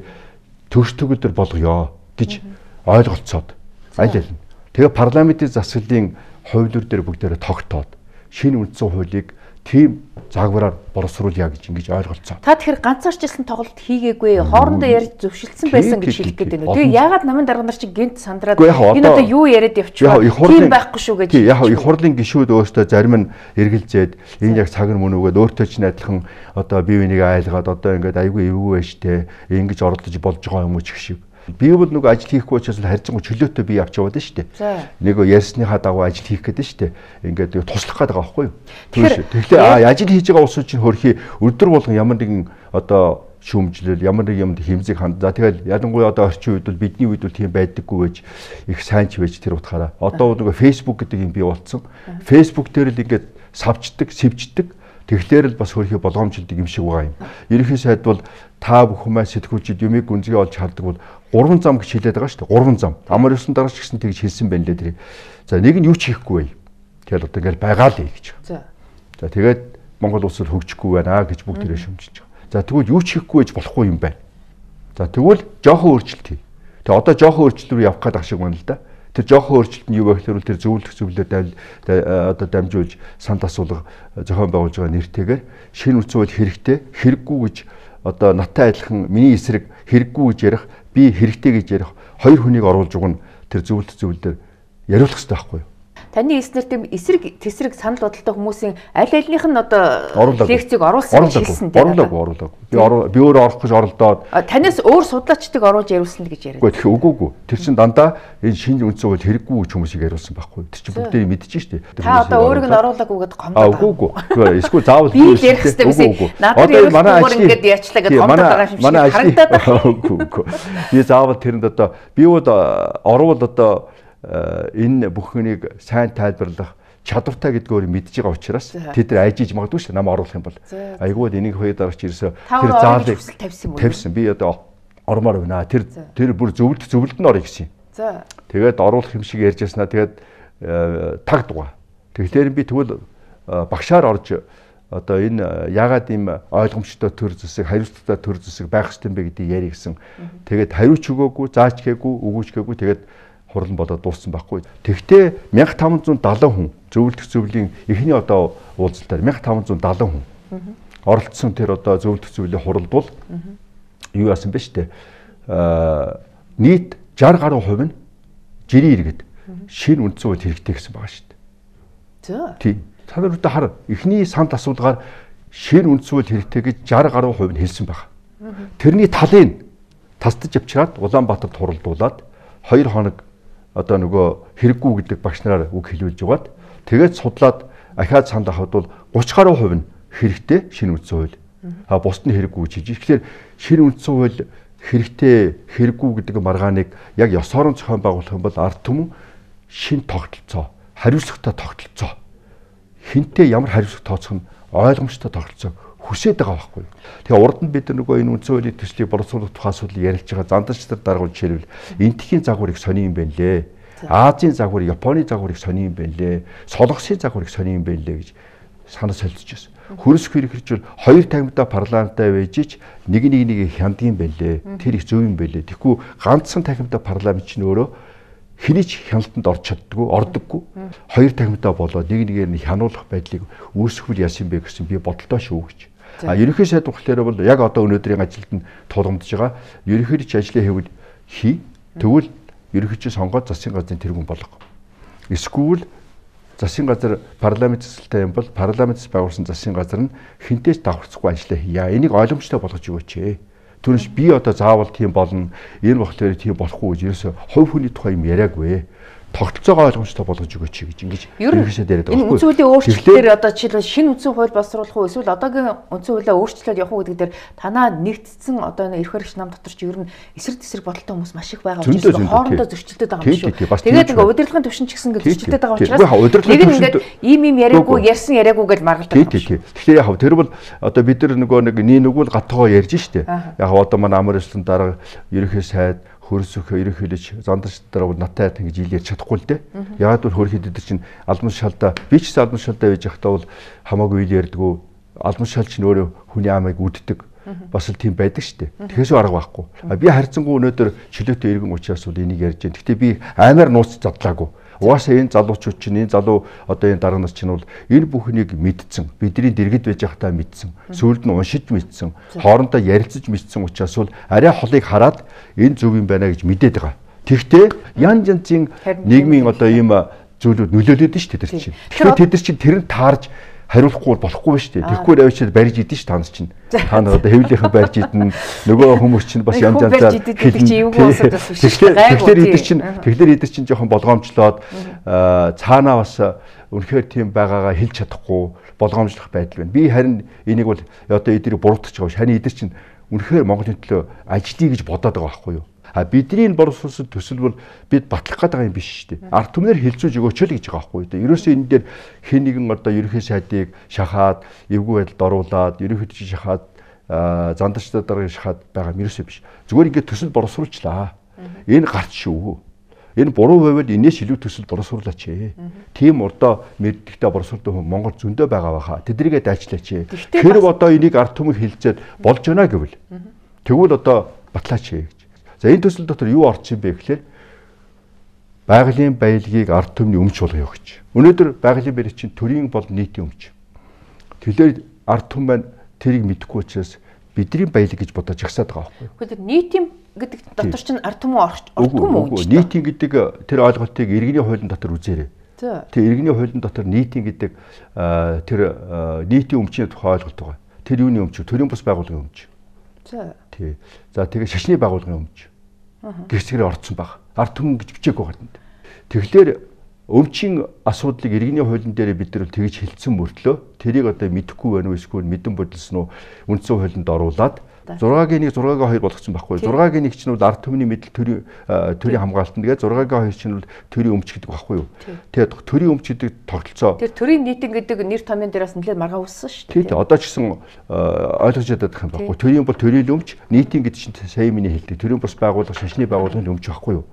B: төгс төгөлдөр болгоё гэж ойлголцоод аль аль нь. Тэгээ парламентын засаглалын хуулиур дээр бүгдээрээ тогтоод шинэ үндсэн хуулийг тийм загвараар боловсруулъя гэж ингэж ойлголцоо.
A: Та тэгэхээр ганцаарчлсан тоглолт хийгээгүй, хоорондоо ярьж зөвшөлдсөн байсан гэж хэлэх гээд байна уу? Тэгээ яагаад намын дарга нар чинь гинт сандраад энэ одоо юу яриад явчихваа? Тийм байхгүй шүү гэж.
B: Тийм яг их хурлын гишүүд өөртөө зарим нь эргэлзээд энэ яг цаг нь мөн үгээд өөртөө ч адилхан одоо бие биенийг айлгаад одоо ингээд айгүй эвгүй байж тээ ингэж оролдож болж байгаа юм уу ч гэх шиг. Би бол нөгөө ажил хийхгүй учраас харьцангуй чөлөөтэй би явж яваад шүү дээ. Нөгөө ярьсныхаа дагуу ажил хийх гэдэг шүү дээ. Ингээд туслах гэдэг байгаа байхгүй юу? Тэгэхээр ажил хийж байгаа улсууд чинь хөрхий өдөр болгон ямар нэгэн одоо шүүмжлэл, ямар нэг юмд хэмзэг ханд. За тэгэл ялангуяа одоо орчин үед бол бидний үед бол тийм байдаггүй байж их сайн ч байж тэр утгаараа. Одоо нөгөө Facebook гэдэг юм бий болцсон. Facebook дээр л ингээд савчдаг, сэвждэг. Тэгэхээр л бас хөрхий болгоомжлдог юм шиг байгаа юм. Ерөнхий сайд бол та бүхэн сэтгүүлчид юмыг гүнзгий олж хардаг бол гурван зам гэж хэлээд байгаа шүү дээ. Гурван зам. Амар ёсон дараач гэсэн тэгж хэлсэн байна лээ тэр. За нэг нь юу ч хийхгүй бай. Тэгэл одоо ингээл байгаа л гэж. За. За тэгээд Монгол улс хөгжихгүй байна гэж бүгд тэрэ шүмжиж байгаа. За тэгвэл юу ч хийхгүй байж болохгүй юм байна. За тэгвэл жоохон өөрчлөлт хий. Тэгээ одоо жоохон өөрчлөлт рүү явах гэдэг шиг байна л да. Тэр жоохон өөрчлөлт нь юу вэ гэхээр тэр зөвлөх зөвлөлөөр одоо дамжуулж санд асуулга зохион байгуулж байгаа нэртэйгээр шинэ үндсэн хууль хэрэгтэй, хэрэггүй гэж одоо наттай адилхан миний эсрэг хэрэггүй гэж ярих, би хэрэгтэй гэж ярих хоёр хүнийг оруулж уг нь тэр зөвлөлт зөвлөлөөр яриулах хэрэгтэй байхгүй юу?
A: Таны эснэр тийм эсрэг тэсрэг санал бодолтой хүмүүсийн аль альнийх нь одоо лекцийг оруулсан гэж хэлсэн тийм
B: оруулаагүй оруулаагүй. Би би өөрөө орох гэж оролдоод
A: танаас өөр судлаачдыг оруулж яриулсан гэж яриад.
B: Үгүй үгүй үгүй. Тэр чин дандаа энэ шинэ үндсэн хууль хэрэггүй гэж хүмүүсийг яриулсан байхгүй. Тэр чин бүгдээ мэдчихэж штэ.
A: Та одоо өөрийг нь оруулаагүй гэдээ гомдоод.
B: Аа үгүй үгүй. Эсвэл заавал
A: би ярих хэрэгтэй байсан. Надад манай ингээд ярьчлаа гэдээ гомдоод байгаа юм шиг харагдаад байна.
B: Үгүй үгүй. Би заавал тэрэнд одоо би бол орвол одоо энэ бүхнийг сайн тайлбарлах чадвартай гэдгээр мэдж байгаа учраас тэд нар айжиж магадгүй шүү нам оруулах юм бол айгүй энийг хоёр дараач ирсээ
A: тэр заалыг тавьсан юм уу?
B: Тавьсан. Би одоо ормоор байна. Тэр тэр бүр зөвлөлт зөвлөлд нь орё гэсэн юм. За. Тэгээд оруулах юм шиг ярьж яснаа тэгээд таг дугаа. Тэгэхээр би тэгвэл багшаар орж одоо энэ ягаад ийм ойлгомжтой төр зэсэг хариуцлагатай төр зэсэг байх хэрэгтэй юм бэ гэдгийг яри гэсэн. Тэгээд хариуч өгөөгүй, заач гээгүй, өгөөч гээгүй тэгээд хурлан болоод дууссан байхгүй. Тэгвэл мянга таван зуун далайн хүн зөвлөлт зөвлөлийн эхний одоо уулзалтаар мянга таван зуун далайн хүн оролцсон тэр одоо зөвлөлт зөвлөлийн хуралд бол юу яасан бэ штэ. Аа нийт шарх гаруй хувь нь жирийн иргэд шинэ үндсэн хууль хэрэгтэй гэсэн байгаа штэ. За. Тийм. Та нар одоо хар эхний санд асуулгаар шинэ үндсэн хууль хэрэгтэй гэж шарх гаруй хувь нь хэлсэн байгаа. Тэрний талын тасдаж авчираад Улаанбаатарт хуралдуулаад хоёр хоног одоо нөгөө хэрэггүй гэдэг багш нараар үг хэлүүлж угаад тэгээд судлаад ахаад санд авахд бол гурван гаруй хувь нь хэрэгтэй шинэ үндсэн хууль. А бусд нь хэрэггүй гэж хэлж. Тэгэхээр шинэ үндсэн хууль хэрэгтэй хэрэггүй гэдэг маргааныг яг ёс орон зохион байгуулах юм бол ард түмэн шинэ тогтолцоо, хариуцлагатай тогтолцоо. Хинтээ ямар хариуцлага тооцох нь ойлгомжтой тогтолцоо хүсээд байгаа байхгүй. Тэгээ урд нь бид нөгөө энэ үндсэн хуулийн төслийг боловсруулах тухай асуудал ярьж байгаа зандагч нар даргуул жишээлбэл энтхийн загварыг сони юм байна лээ. Азийн загвар, Японы загварыг сони юм байна лээ. Солонгосын загварыг сони юм байна лээ гэж санаа солилцож байсан. Хөрс хэрхэрчүүл хоёр тагмтай парламенттай байж ич нэг нэг нэг хяндгийн байлээ. Тэр их зөв юм байлээ. Тэгэхгүй ганцхан тагмтай парламент чинь өөрөө хэний ч хяналтанд орч чаддгүй, ордоггүй. Хоёр тагмтай болоод нэг нэгээр нь хянуулах байдлыг үүсгэвэл яасан бэ гэсэн би бодолтой шүү гэж. А ерөнхий сайд болохоор бол яг одоо өнөөдрийн ажилд нь тулгамдж байгаа. Ерөнхийд ч ажлаа хийвэл хий. Тэгвэл ерөнхийд сонгоод засгийн газрын тэргүүн болгох. Эсвэл засгийн газар парламент засалтай юм бол парламентс байгуулсан засгийн газар нь хинтээс давхарцахгүй ажиллаа хийя. Энийг ойлгомжтой болгож өгөөч ээ. Түүнээс би одоо заавал тийм болно. Энэ болохоор тийм болохгүй гэж ерөөсө хувь хүний тухай юм яриаггүй. Тогтолцоогоо ойлгомжтой болгож өгөөч гэж ингэж ерөнхийдөө яриад байгаа.
A: Энэ үндсэн хуулийн өөрчлөлтөөр одоо жишээлбэл шинэ үндсэн хууль боловсруулах уу эсвэл одоогийн үндсэн хуулиа өөрчлөлт явах уу гэдэг дээр танаа нэгдсэн одоо эрх баригч нам дотор ч ер нь эсрэг тесрэг бодолтой хүмүүс маш их байгаа учраас хоорондоо зөрчилдөд байгаа юм шүү. Тэгээд ингээ удирдлагын төвшин ч гэсэн ингээ зөрчилдөд байгаа учраас нэг нь ингээ ийм ийм яриаггүй ярьсан яриаггүй гэж маргалдаг.
B: Тийм тийм. Тэгэхээр яг тэр бол одоо бид нар нөгөө нэг нэг нүгэл гатгоо ярьж штэ. Яг одоо манай амар өслөн дараа ерөнхий сайд хөрсөх ерөнхийлөгч зандарч дараа бол натаа ингэж ил ярьж чадахгүй л дээ. Яагаад гэвэл хөрх хэдэд чинь албан шалдаа би ч гэсэн албан шалдаа байж байхдаа бол хамаагүй ил ярьдгүү. Албан шал чинь өөрөө хүний амыг үддэг. Бас л тийм байдаг шүү дээ. Тэгэхээс арга байхгүй. Би харьцангуй өнөөдөр чөлөөтэй иргэн учраас бол энийг ярьж байна. Гэхдээ би аймаар нууц задлаагүй. Угаасаа энэ залуучууд чинь энэ залуу одоо энэ дараа нар чинь бол энэ бүхнийг мэдсэн. Бидний дэргэд байж байхдаа мэдсэн. Сүүлд нь уншиж мэдсэн. Хоорондоо ярилцаж мэдсэн учраас бол арай холыг хараад энэ зөв юм байна гэж мэдээд байгаа. Тэгвэл янз янзын нийгмийн одоо ийм зүйлүүд нөлөөлөд нь шүү дээ тэр чинь. Тэгэхээр тэд нар чинь тэрэн таарж хариулахгүй болохгүй шүү дээ. Тэгэхгүй авчид барьж идэн ш танаас чинь. Та нар одоо хэвлийнхэн барьж идэн нөгөө хүмүүс чинь бас янз янзаар тэгэхээр идэр чинь тэгэхээр идэр чинь жоохон болгоомжлоод цаанаа бас үнэхээр тийм байгаагаа хэлж чадахгүй болгоомжлох байдал байна. Би харин энийг бол одоо эдэрийг буруутгах байгаа ш. Харин идэр чинь үнэхээр Монголын төлөө ажиллая гэж бодоод байгаа байхгүй юу? А бидний энэ боловсруулсан төсөл бол бид батлах гээд байгаа юм биш шүү дээ. Ард түмнэр хилцүүлж өгөөч л гэж байгаа байхгүй юу? Ерөөсөө энэ дээр хэн нэгэн одоо ерөнхий сайдыг шахаад, эвгүй байдалд оруулаад, ерөнхийд шахаад, зандарчдаа дараа шахаад байгаа юм ерөөсөө биш. Зүгээр ингээд төсөл боловсруулчлаа. Энэ гарч шүү. Энэ буруу байвал энэс илүү төсөл боловсруулаач ээ. Тийм урдаа мэддэгтэй боловсруулдаг хүн Монгол зөндөө байгаа баха. Тэдрийгээ дайчлаач ээ. Тэр одоо энийг ард түмэн хилцээд болж байна гэвэл тэгвэл одоо батлаач ээ гэж. За энэ төсөл дотор юу орж ийн бэ гэхээр байгалийн баялагийг ард түмний өмч болгоё гэж. Өнөөдөр байгалийн баялаг чинь төрийн бол нийтийн өмч. Тэгэхээр ард түмэн маань тэрийг мэдэхгүй учраас бидний баялаг гэж бодож жагсаад байгаа байхгүй.
A: Гэхдээ нийтийн гэдэг дотор чинь ард түмэн ордгүй мүү гэж.
B: Нийтийн гэдэг тэр ойлголтыг иргэний хуулийн дотор үзээрэй. Тэр иргэний хуулийн дотор нийтийн гэдэг тэр нийтийн өмчийн тухай ойлголт байгаа. Тэр юуны өмч? Төрийн бус байгууллагын өмч. За. Тий. За тэгээ шашны байгууллагын өмч. Гэрчгээр орцсон баг. Ард түмэн гэж бичээгүй гадна. Тэгэхээр өмчийн асуудлыг иргэний хуулийн дээр бид нар тэгж хэлсэн мөртлөө тэрийг одоо мэдэхгүй байна уу эсвэл мэдэн бодолсон уу үндсэн хуулинд оруулаад зургагийн нэг зургагийн хоёр болгоцсон байхгүй. зургагийн нэг чинь бол ард түмний мэдл төрийн төрийн хамгаалтан тэгээд зургагийн хоёр чинь бол төрийн өмч гэдэг байхгүй юу. Тэгээд төрийн өмч гэдэг тогтолцоо.
A: Тэр төрийн нийтэн гэдэг нэр томьёон дээрээс нэлээд маргаа үссэн шүү дээ.
B: Тийм одоо ч гэсэн ойлгож ядаад байгаа юм байхгүй. Төрийн бол төрийн өмч, нийтийн гэдэг чинь сая миний хэлдэг. Төрийн бус байгууллага, шашны байгууллагын өмч байхгүй юу.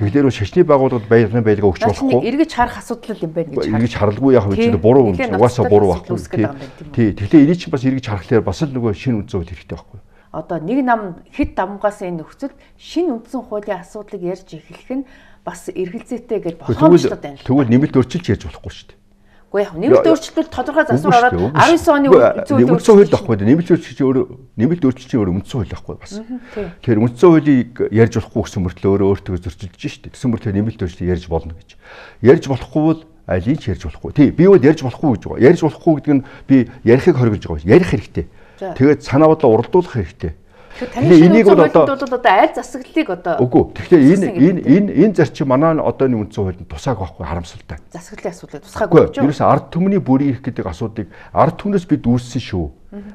B: Тэгэхээр шашны байгууллагад баярын байлгаа өгч болохгүй.
A: Эргэж харах асуудал юм байна гэж.
B: Эргэж харалгүй яг үчинд буруу юм. Угаасаа буруу байхгүй. Тий. Тэгэхээр энийг чинь бас эргэж харахлаар бас л нөгөө шинэ үндсэн хууль хэрэгтэй байхгүй.
A: Одоо нэг нам хэд давмгаас энэ нөхцөл шинэ үндсэн хуулийн асуудлыг ярьж эхлэх нь бас эргэлзээтэй гэж болгоомжлоод байна.
B: Тэгвэл нэмэлт өөрчилж ярьж болохгүй шүү дээ.
A: Гэхдээ яг нэмэлт өөрчлөлт тодорхой засвар ороод арван девять оны
B: үндсэн хууль байхгүй. Нэмэлт өөрчлөлт өөрөө нэмэлт өөрчлөлт чинь өөрөө үндсэн хууль байхгүй бас. Тэгэхээр үндсэн хуулийг ярьж болохгүй гэсэн мөртлөө өөрөө өөртөө зөрчилдөж шүү дээ. Гэсэн мөртлөө нэмэлт өөрчлөлт ярьж болно гэж. Ярьж болохгүй бол алийг ч ярьж болохгүй. Тий, би бол ярьж болохгүй гэж байгаа. Ярьж болохгүй гэдэг нь би ярихыг хоригдж байгаа. Ярих хэрэгтэй. Тэгээд санаа бодлоо уралдуулах хэрэгтэй.
A: Тэгэхээр энийг бол одоо одоо аль засаглалыг одоо
B: үгүй. Тэгэхээр энэ энэ энэ энэ зарчим манай одооны үндсэн хуулинд тусааг байхгүй харамсалтай.
A: Засаглалын асуудлыг тусгаагүй гэж.
B: Ерөөс ард түмний бүрийн ирэх гэдэг асуудыг ард түмнээс бид үүссэн шүү.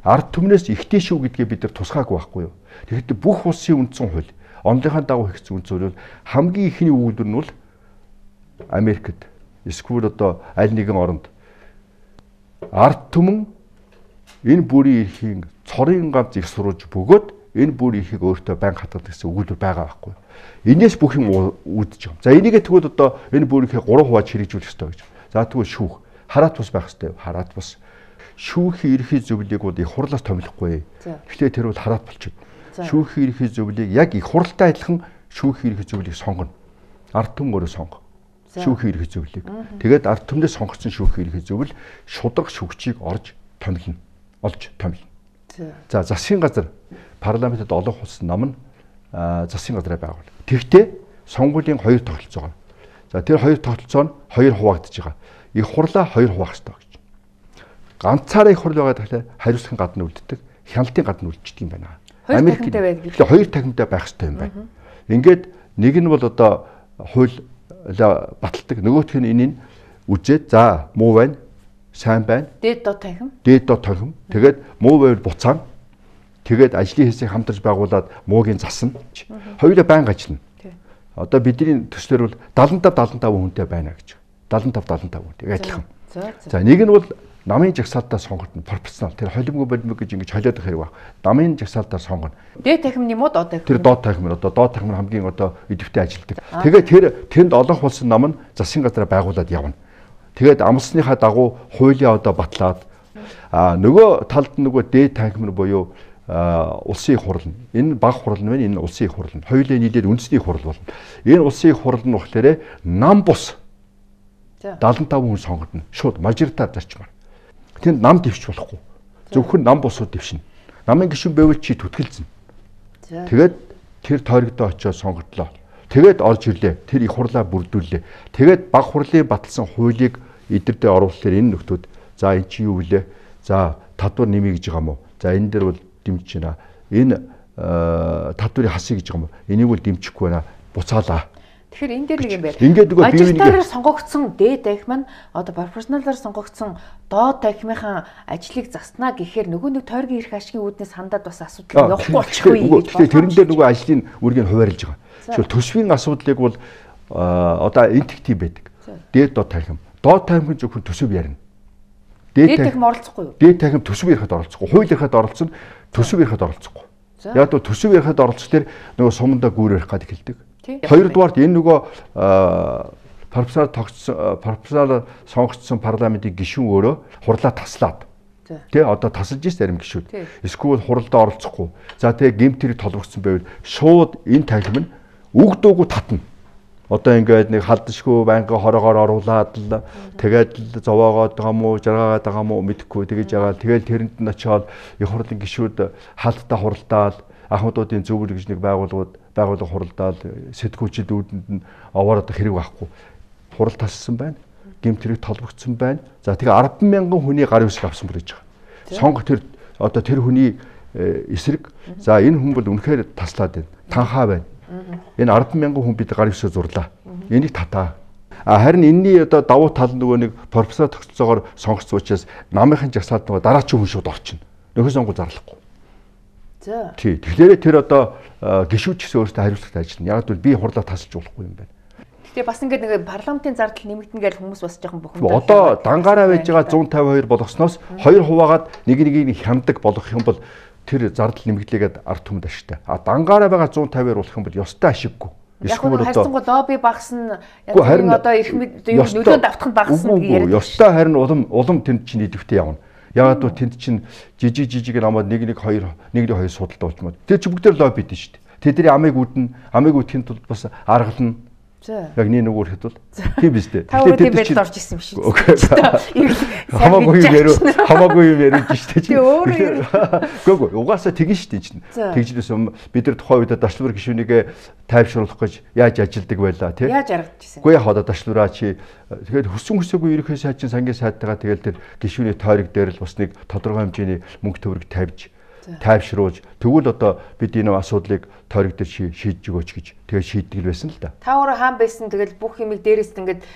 B: Ард түмнээс ихтэй шүү гэдгээ бид нар тусгаагүй байхгүй юу. Тэгэхээр бүх улсын үндсэн хууль онлынхаа дагуу хийгдсэн үндсэн хууль хамгийн ихний өгүүлбэр нь бол Америкт эсвэл одоо аль нэгэн оронд ард түмэн энэ бүрийн эрхийн цорын ганц их сурвалж бөгөөд энэ бүрийн эрхийг өөртөө байнга хатгах гэсэн өгүүлбэр байгаа байхгүй. Энээс бүх юм үүдэж байгаа. За энийгээ тэгвэл одоо энэ бүрийн эрхийг гурван хувааж хэрэгжүүлэх ёстой гэж. За тэгвэл шүүх, хараат бус байх ёстой. Хараат бус. Шүүхийн эрхийн зөвлөлийг бол их хурлаас томилохгүй. Гэхдээ тэр бол хараат болчихно. Шүүхийн эрхийн зөвлөлийг яг их хуралтай адилхан шүүхийн эрхийн зөвлөлийг сонгоно. Ард түмэн өөрөө сонго. Шүүхийн эрхийн зөвлөлийг. Тэгээд ард түмнээс сонгогдсон шүүхийн эрхийн зөвлөл шударга шүүгчийг орж томилно. Олж томилно. За засгийн газар парламентэд олон улсын нам нь засгийн газраа байгуул. Тэгвэл сонгуулийн хоёр тогтолцоо байна. За тэр хоёр тогтолцоо нь хоёр хуваагдаж байгаа. Их хурлаа хоёр хуваах ёстой гэж. Ганцаараа их хурл байгаа тэгэхээр хариуцлагын гадна үлддэг, хяналтын гадна үлддэг юм байна. Америкт хоёр тахимтай байх ёстой юм байна. Ингээд нэг нь бол одоо хууль баталдаг, нөгөөх нь энийг үзээд за муу байна, сайн байна.
A: Дээд доод тахим.
B: Дээд доод тахим. Тэгээд муу байвал буцаана. Тэгээд ажлын хэсгийг хамтарч байгуулад муугийн засна. Хоёулаа байнга ажиллана. Одоо бидний төслөр бол дагалан тавь дагалан тавь хүнтэй байна гэж. дагалан тавь дагалан тавь хүнтэй адилхан. За нэг нь бол намын жагсаалтаа сонгогдно пропорционал. Тэр холимгүй болимог гэж ингэж холиод байх хэрэг баг. Намын жагсаалтаа сонгоно.
A: Дээд тахим юм уу доод тахим?
B: Тэр доод тахим нь одоо доод тахим нь хамгийн одоо идэвхтэй ажилтдаг. Тэгээд тэр тэнд олонх болсон нам нь засгийн газараа байгуулад явна. Тэгээд амлсныхаа дагуу хуулиа одоо батлаад а нөгөө талд нөгөө дээд тахим нь буюу улсын их хурал. Энэ баг хурал нь байна, энэ улсын их хурал нь. Хоёулаа нийлээд үндэсний их хурал болно. Энэ улсын их хурал нь болохоор нам бус дагалан тавь хүн сонгогдно. Шууд мажоритар зарчмаар. Тэнд нам дэвч болохгүй. Зөвхөн нам бусууд дэвшнэ. Намын гишүүн байвал чи түтгэлцэн. Тэгээд тэр тойрогдоо очиод сонгогдлоо. Тэгээд орж ирлээ. Тэр их хурлаа бүрдүүллээ. Тэгээд баг хурлын баталсан хуулийг эдэрдээ оруулахлаар энэ нөхдүүд за эн чи юу вүлээ? За татвар нэмье гэж байгаа мó. За энэ дээр бол дэмжиж байна. Энэ татврыг хасъя гэж байгаа мó. Энийг бол дэмжихгүй байна. Буцаалаа.
A: Тэгэхээр энэ дээр нэг юм байна.
B: Ингээд нөгөө
A: мажоритараар сонгогдсон дээд тахим нь одоо пропорционалаар сонгогдсон доод тахимынхаа ажлыг заснаа гэхээр нөгөө нэг тойргийн эрх ашигын үүднээс хандаад бас асуудал явахгүй болчихгүй.
B: Тэгэхээр тэрэн дээр нөгөө ажлын үргийг хуваарлаж байгаа. Жишээл төсвийн асуудлыг бол одоо энтэгтэй байдаг. Дээд доод тахим. Доод тахимын зөвхөн төсөв ярина.
A: Дээд тахим оролцохгүй юу?
B: Дээд тахим төсөв ярихад оролцохгүй. Хууль ярихад оролцсон, төсөв ярихад оролцохгүй. Яг л төсөв ярихад оролцох тэр нөгөө сумандаа гүүр ярих гад эхэлдэг. Хоёрдугаарт энэ нөгөө пропорционал тогтсон пропорционал сонгогдсон парламентын гишүүн өөрөө хурлаа таслаад тий одоо тасалж ирсэн зарим гишүүд эсвэл хуралдаа оролцохгүй. За тэгээ гэмтэрийг толбогдсон байвал шууд энэ тахим нь үг дуугүй татна. Одоо ингээд нэг халдшгүй байнга хороогоор оруулаад л тэгээд л зовоогоод байгаа мó жаргаагаад байгаа мó мэдэхгүй тэгэж яагаад тэгээд тэрэнд нь очиод их хурлын гишүүд хаалттай хуралдаал ахмадуудын зөвлөл гэж нэг байгууллагууд байгууллага хуралдаал сэтгүүчид үүдэнд нь овоороод хэрэг байхгүй. Хурал тассан байна. Гэмтрийг толбогдсон байна. За тэгээ арван мянган хүний гар үсэг авсан бүр гэж байгаа. Сонго тэр одоо тэр хүний эсрэг за энэ хүн бол үнэхээр таслаад байна. Танхаа байна. Энэ арван мянган хүн бид гар үсээ зурлаа. Энийг татаа. А харин энэний одоо давуу тал нөгөө нэг профессор тогтолцоогоор сонгогдсон учраас намынхын жагсаалд нөгөө дараачийн хүн шууд орчихно. Нөхөр сонгуул зарлахгүй.
A: За.
B: Тий. Тэгэхээр тэр одоо гишүүч гэсэн өөртөө хариуцлагатай ажиллана. Яг л би хурлаа тасалж болохгүй юм байна.
A: Тэгээ бас ингээд нэг парламентын зардал нэмэгдэн гэж хүмүүс бас жоохон бухимдаа.
B: Одоо дангаараа байж байгаа one fifty-two болгосноос хоёр хуваагаад нэг нэгийг хямдаг болгох юм бол тэр зардал нэмэгдлээгээд ард түмэд ашигтай. А дангаараа байгаа one fifty-two болох юм бол ёстой ашиггүй.
A: Яг нь хайрцангуй лобби багасна. Яг нь одоо эрх мэд нөлөөнд автах нь багасна гэж яриад.
B: Ёстой харин улам улам тэнд чинь идэвхтэй явна. Яагаад гэвэл тэнд чинь жижиг жижиг намаад нэг нэг хоёр нэг нэг хоёр судалтай болчмод. Тэр чи бүгдээр лобби дээ шүү дээ. Тэдний амийг үүдэн амийг үүдхийн тулд бас аргална. Яг нэг нэг үрхэд бол тийм биз дээ.
A: Та өөрөө тийм байдалд орж исэн юм шиг.
B: Хамаагүй юм ярив. Хамаагүй юм ярив шүү дээ. Гөө гөө угаасаа тэгэн шүү дээ чинь. Тэгжлээс бид нар тухайн үед дачлуур гишүүнийг тайвшруулах гэж яаж ажилдаг байлаа тий.
A: Яаж аргадчихсан.
B: Үгүй яг одоо дачлуураа чи тэгээд хүссэн хүсээгүй ерөнхий сайдчин сангийн сайдтайгаа тэгэл тэр гишүүний тойрог дээр л бас нэг тодорхой хэмжээний мөнгө төгрөг тавьж тайвшруулж тэгвэл одоо бид энэ асуудлыг тойрог дээр шийдэж өгөөч гэж тэгээ шийддэг л байсан л да.
A: Та өөрөө хаан байсан тэгэл бүх юмыг дээрээс ингээд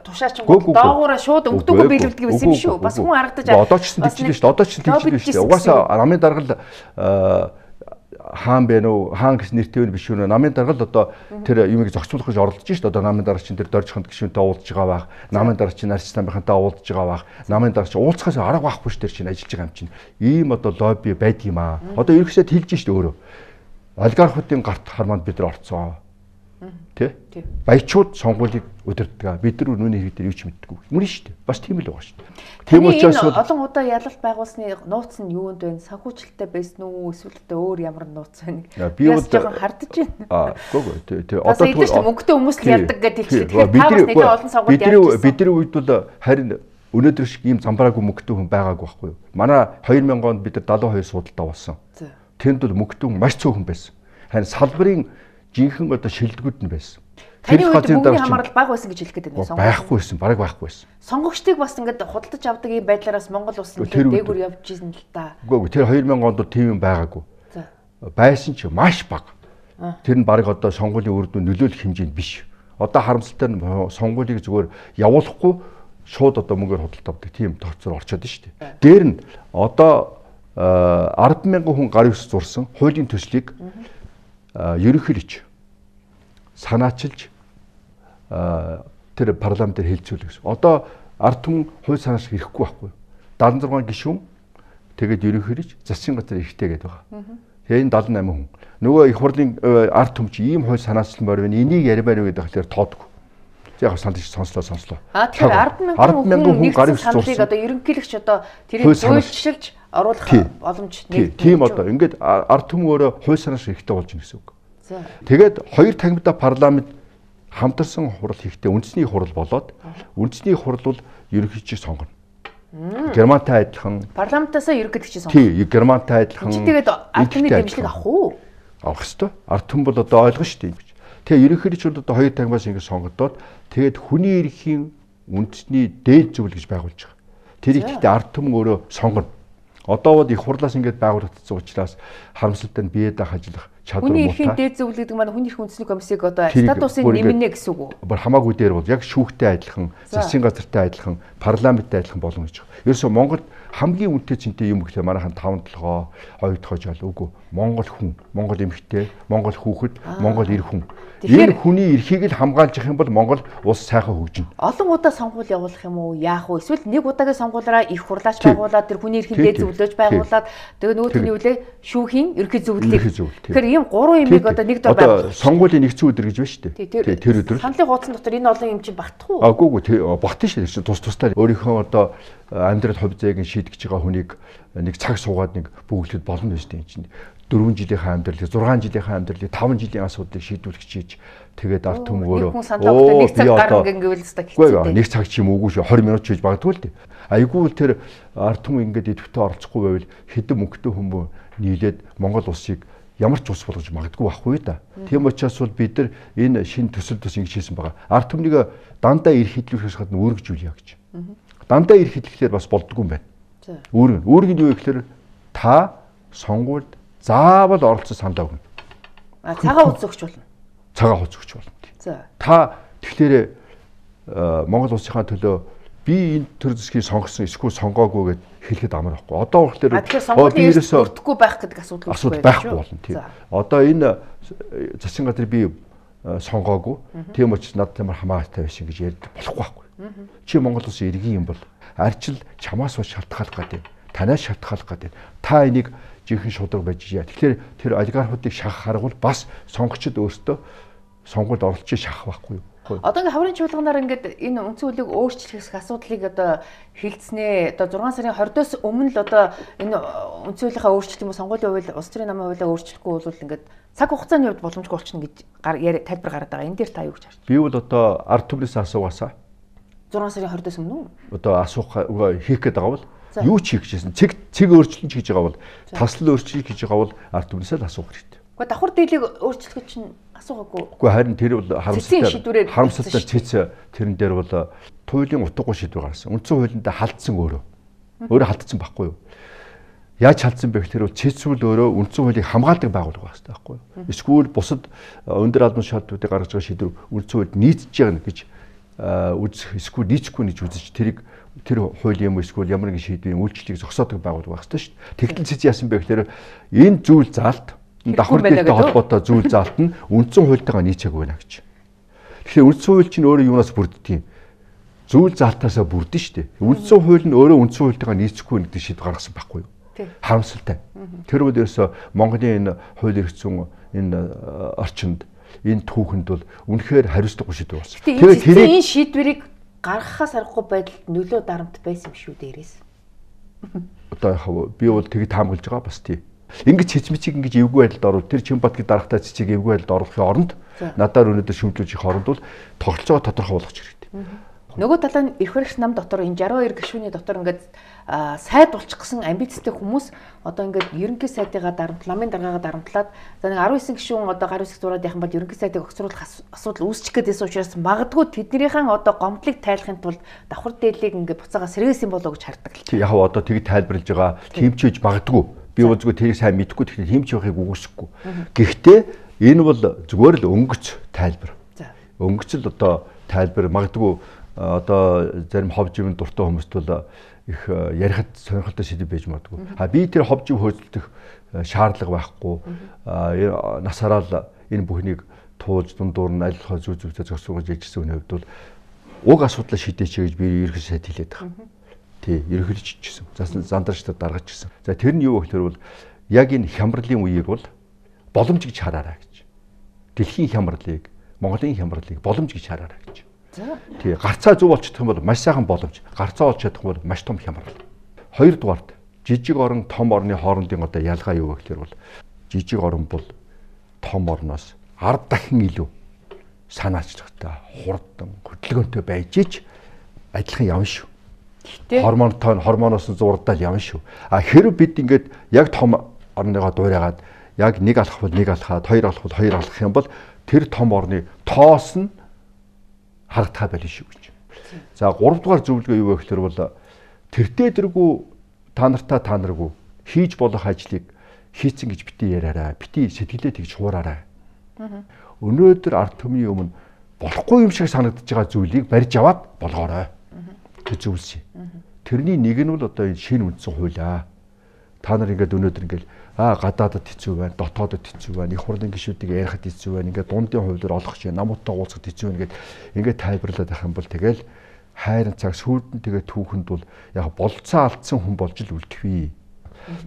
A: тушаачингууд доогуура шууд өнгөдөгөө биелүүлдэг байсан юм шүү. Бас хүн харагдаж
B: одоо ч гэсэн тэгж л шүү. Одоо ч тэгж л шүү. Угаасаа намын даргал хаан бэ нүү хаан гэсэн нэртэй биш үү намын дарга л одоо тэр юмыг зохицуулах гэж оролдож шүү дээ. Одоо намын дарга чинь тэр доржиханд гишүүнтэй уулзж байгаа байх. Намын дарга чинь арч намынхантай уулзж байгаа байх. Намын дарга чинь уулзахаас арга байхгүй шүү дээ чинь ажиллаж байгаа юм чинь. Ийм одоо лобби байдаг юм аа. Одоо ерөөсөө хэлж шүү дээ өөрөө. Олигархуудын гарт харманд бид нар орцсон. Тэ? Баячууд сонгуулийг удирддаг. Бид нар нүуний хэрэг дээр юу ч мэддэггүй. Мөн шүү дээ. Бас тийм л байгаа шүү дээ.
A: Тийм учраас олон удаа ялалт байгуулсны нууц нь юунд вэ? Санхүүжилттэй байсан уу? Эсвэл өөр ямар нууц вэ?
B: Би одоо
A: хардаж байна.
B: Аа, үгүй ээ. Тэ
A: одоо тэгвэл мөнгөтэй хүмүүс л ярьдаг гэдэг хэлчихлээ. Тэгэхээр та бас нэлээд олон сонгуульд
B: ярьж байна. Бидний үед бол харин өнөөдөр шиг ийм замбраагүй мөнгөтэй хүн байгаагүй байхгүй юу? Манай две тысячи онд бид нар седьмдесят two судалтай болсон. Тэнд бол мөнгөтэй хүн маш цөөхөн байсан. Харин салбарын жинхэнэ одоо шилдэгүүд нь байсан.
A: Тэр газрын дарга хамаарал бага байсан гэж хэлэх гээд байна.
B: Байхгүй байсан, бараг байхгүй байсан.
A: Сонгогчдыг бас ингээд худалдаж авдаг юм байдлаараас Монгол улс нь дээгүр явж ирсэн л та.
B: Үгүй ээ, тэр две тысячи онд тийм юм байгаагүй. Байсан ч маш бага. Тэр нь бараг одоо сонгуулийн үр дүн нөлөөлөх хэмжээнд биш. Одоо харамсалтай нь сонгуулийг зүгээр явуулахгүй шууд одоо мөнгөөр худалдаж авдаг тийм тооцоор орчод шүү дээ. Дээр нь одоо арван мянган хүн гар ус зурсан хуулийн төслийг ерөнхийлж санаачилж тэр парламентээр хэлцүүлэх гэсэн. Одоо ард түмэн хууль санааш ирэхгүй байхгүй. седьмдесят six гишүүн тэгээд ерөнхийлж засгийн газар ихтэй гэдэг байгаа. Тэгээ энэ seventy-eight хүн. Нөгөө их хурлын ард түмч ийм хууль санаачлан морь байна. Энийг ярмаар үү гэдэг хэлээр тоодгүй. Яг санал чи сонслоо сонслоо.
A: А тэгэхээр арван мянган хүн гар ус зурсан. Одоо ерөнхийлөгч одоо тэрийг зөвлөжилж оруулах боломж
B: нэг. Тийм одоо ингээд ард түмэн өөрөө хууль санааш ихтэй болж байна гэсэн үг. Тэгээд хоёр тагмда парламент хамтарсан хурал хийхдээ үндэсний хурал болоод үндэсний хурал бол ерөнхийлөгчийг сонгоно. Германтай адилхан
A: парламентаас ерөнхийлөгчийг сонгоно.
B: Тий, Германтай адилхан.
A: Тэгээд ард түмний дэмжлэг авах уу?
B: Авах ёстой. Ард түмэн бол одоо ойлгоно шүү дээ. Тэгээ ерөнхийлөгч бол одоо хоёр тагмаас ингэ сонгогдоод тэгээд хүний эрхийн үндэсний дээд зөвлөл гэж байгуулж байгаа. Тэр ихтэй ард түмэн өөрөө сонгоно. Одоо бол их хурлаас ингэж байгуулагдсан учраас харамсалтай нь биеэ даах ажиллах чадвар муутай.
A: Хүний эрхийн дээд зөвлөл гэдэг маань хүний эрхийн үндэсний комиссийг одоо статусын нэмнэ гэсэн үг үү?
B: Бүр хамаагүй дээр бол яг шүүхтэй адилхан, засгийн газартай адилхан, парламенттай адилхан болно гэж байна. Ерөөсөө Монголд хамгийн үнэтэй цэнтэй юм гэхлээр манайхан таван толгой, хоёрдохоо жол үгүй. Монгол хүн, Монгол эмэгтэй, Монгол хүүхэд, Монгол эр хүн. Энэ хүний эрхийг л хамгаалж явах юм бол Монгол улс сайхан хөгжинэ.
A: Олон удаа сонгуул явуулах юм уу? Яах вэ? Эсвэл нэг удаагийн сонгуулаараа их хурлаач байгуулад тэр хүний эрхийн дээд зөвлөж байгуулад тэгээ нөгөөдний үлээ шүүхийн ерхий зөвлөлийг. Тэгэхээр ийм гурван юмыг одоо нэг дор
B: байгуулах. Сонгуулийн нэгдсэн өдөр гэж байна шүү дээ. Тэр өдөр.
A: Саналын хуудсан дотор энэ олон юм чинь багтах уу?
B: Аагүй гүй багтана шүү дээ. Тус тусдаа өөрийнхөө одоо амьдрал хувь заяагийн шийдэж байгаа хүнийг нэг цаг суугаад нэг бөглөхөд болно байж тээ чинь. дөрвөн жилийнхаа амьдралыг, зургаан жилийнхаа амьдралыг, таван жилийн асуудлыг шийдвэрлэх чийж тэгээд ард түмэн өөрөө
A: оо нэг цаг гарна гэвэл хэвээр
B: хэцүү. Нэг цаг ч юм уугүй шүү. twenty минут ч хийж магадгүй л дээ. Айгүй тэр ард түмэн ингээд идэвхтэй оролцохгүй байвал хэдэн мөнгөтэй хүмүүс нийлээд Монгол улсыг ямар ч ус болгож магадгүй байхгүй да. Тийм учраас бол бид нар энэ шинэ төсөл төс ингэж хийсэн байгаа. Ард түмнийг дандаа эрх хэдлүүлэхээс гадна үүргэжүүлье гэж. Дандаа эрх хэдлэхээр бас болдгоо юм байна. Үүрэг. Үүрэг нь юу гэхээр та сонгуульд заавал оролцож саналаа өгнө.
A: А цагаан хуц өгч болно.
B: Цагаан хуц өгч болно. За. Та тэгэхээр Монгол улсынхаа төлөө би энэ төр засгийг сонгосон эсвэл сонгоогүй гэд хэлэхэд амар байхгүй. Одоо болохоор
A: би ерөөсөө өртөхгүй байх гэдэг асуудал
B: үүсэж байхгүй болно тийм. Одоо энэ засгийн газрыг би сонгоогүй. Тийм учраас над ямар хамаатай байсан гэж ярьж болохгүй байхгүй. Чи Монгол улсын иргэн юм бол арчил чамаас бас шалтгаалах гэдэг. Танаас шалтгаалах гэдэг. Та энийг жинхэнэ шударга байж яа. Тэгэхээр тэр олигархуудыг шахах арга бол бас сонгогчд өөрсдөө сонгуульд оролцож шахах байхгүй юу?
A: Одоо ингээ хаврын чуулганаар ингээд энэ үндсэн хуулийг өөрчлөх асуудлыг одоо хилцнээ. Одоо six сарын twenty-с өмнө л одоо энэ үндсэн хуулийнхаа өөрчлөлт юм уу сонгуулийн хууль, улс төрийн намын хуулиа өөрчлөхгүй бол ингээд цаг хугацааны хувьд боломжгүй болчихно гэж тайлбар гараад байгаа. Энэ дээр та юу гэж харж байна?
B: Би бол одоо ард түмнээс асуугаасаа
A: six сарын twenty-с өмнө үү?
B: Одоо асуух хийх гээд байгаа бол юу ч хийх гэсэн цэг цэг өөрчлөлт хийж байгаа бол таслал өөрчлөлт хийж байгаа бол ард түмнээс л асуух хэрэгтэй.
A: Гэхдээ давхар дийлийг өөрчлөх чинь асуугаагүй.
B: Үгүй харин тэр бол харамсалтай харамсалтай цэц тэрэн дээр бол туйлын утгагүй шийдвэр гаргасан. Үндсэн хуулиндаа халдсан өөрөө. Өөрөө халдсан байхгүй юу? Яаж халдсан бэ гэхээр цэцүүл өөрөө үндсэн хуулийг хамгаалдаг байгууллага байх хэрэгтэй байхгүй юу? Эсвэл бусад өндөр албан шаардлагуудыг гаргаж байгаа шийдвэр үндсэн хуульд нийцж байгаа гэж үзэх эсвэл нийцэхгүй гэж үзэж тэрийг тэр хууль юм эсвэл ямар нэгэн шийдвэрийн үйлчлэлийг зогсоодог байгууллага байх хэрэгтэй шүү дээ. Тэгтэл цэц яасан бэ гэхээр энэ зүйл заалт давхар дээлтэй холбоотой зүйл заалт нь үндсэн хуультайгаа нийцээгүй байна гэж. Тэгэхээр үндсэн хууль чинь өөрөө юунаас бүрддэг юм? Зүйл заалтаасаа бүрдэн шүү дээ. Үндсэн хууль нь өөрөө үндсэн хуультайгаа нийцэхгүй гэдэг шийдвэр гаргасан байхгүй юу? Харамсалтай. Тэр үед ерөөсө Монголын энэ хууль эрх зүйн энэ орчинд энэ түүхэнд бол үнэхээр хариуцлагагүй шийдвэр болсон.
A: Тэгэхээр энэ шийдвэрийг гаргахаас аргагүй байдалд нөлөө дарамт байсан юм шүү дээрээс.
B: Одоо яхав би бол тийг таамаглаж байгаа бас тий. Ингэж хичмичиг ингэж эвгүй байдалд орвол тэр Чинбатгийн дарагтай цэцгийг эвгүй байдалд оруулахын оронд надаар өнөөдөр шүмжлүүлж их оронд бол тоглолцоо тодорхой болгох хэрэгтэй.
A: Нөгөө талаа нь эрх баригч нам дотор энэ шестьдесят two гишүүний дотор ингээд сайд болчих гэсэн амбицтай хүмүүс одоо ингээд ерөнхий сайдыгаа дарамт, ламын даргаагаа дарамтлаад за нэг nineteen гишүүн одоо гар үсэг зураад яхан бод ерөнхий сайдыг огцруулах асуудал үүсчих гэдээс учраас магадгүй тэднийхэн одоо гомдлыг тайлахын тулд давхар дээлийг ингээд буцаага сэргээсэн болоо гэж хардаг л.
B: Яг одоо тийг тайлбарлаж байгаа тэмчиж магадгүй. Би бол зүгээр тэрийг сайн мэдэхгүй тэгэхээр тэмч байхыг үгүйсэхгүй. Гэхдээ энэ бол зүгээр л өнгөц тайлбар. Өнгөц л одоо тайлбар магадгүй одоо зарим ховж юм дуртай хүмүүст бол их ярихад сонирхолтой сэдв байж магадгүй. А би тэр ховж хөөцөлдөх шаардлага байхгүй. Насаараа л энэ бүхнийг туулж дундуур нь аль болох зүй зүйтэй зогсоогож ажилласан хүний хувьд бол уг асуудлаа шийдээч гэж би ерөнхий сайд хэлээд байгаа. Тий, ерөнхийлөгч гэсэн. Засан зандарчдад даргаж гэсэн. За тэр нь юу вэ гэхээр бол яг энэ хямралын үеийг бол боломж гэж хараарай гэж. Дэлхийн хямралыг, Монголын хямралыг боломж гэж хараарай гэж. Тий, гарцаа зөв болчихдох юм бол маш сайхан боломж. Гарцаа олж чадах бол маш том хямрал. Хоёрдугаард жижиг орон том орны хоорондын одоо ялгаа юу вэ гэхээр бол жижиг орон бол том орноос ард дахин илүү санаачлагтай, хурдан, хөдөлгөөнтэй байж ич адилхан явна шүү. Гормонтой гормоноос зурдаал явна шүү. А хэрэг бид ингээд яг том орныгоо дуурайгаад яг нэг алах бол нэг алхаад, хоёр алах бол хоёр алах юм бол тэр том орны тоос нь харагдах байл шүү гэж. За гурав дугаар зөвлөгөө юу вэ гэхээр бол тэртээ тэргүй та нартаа та наргүй хийж болох ажлыг хийцэн гэж бити яриараа, бити сэтгэлээ тэгж хуураарай. Өнөөдөр ард түмний өмнө болохгүй юм шиг санагдаж байгаа зүйлийг барьж аваад болгоорой. Тэг зүйлс. Тэрний нэг нь бол одоо энэ шинэ үндсэн хуулиа. Та нар ингээд өнөөдөр ингээд аа гадаадад хэцүү байна, дотоодод хэцүү байна, их хурлын гишүүдийг ярихад хэцүү байна, ингээд дундын хувьдаар олох чинь намуудтай уулзахад хэцүү байна гэд ингээд тайлбарлаад байх юм бол тэгэл хайрын цаг сүйдэн тэгээ түүхэнд бол яг болцоо алдсан хүн болж л үлдэхвээ.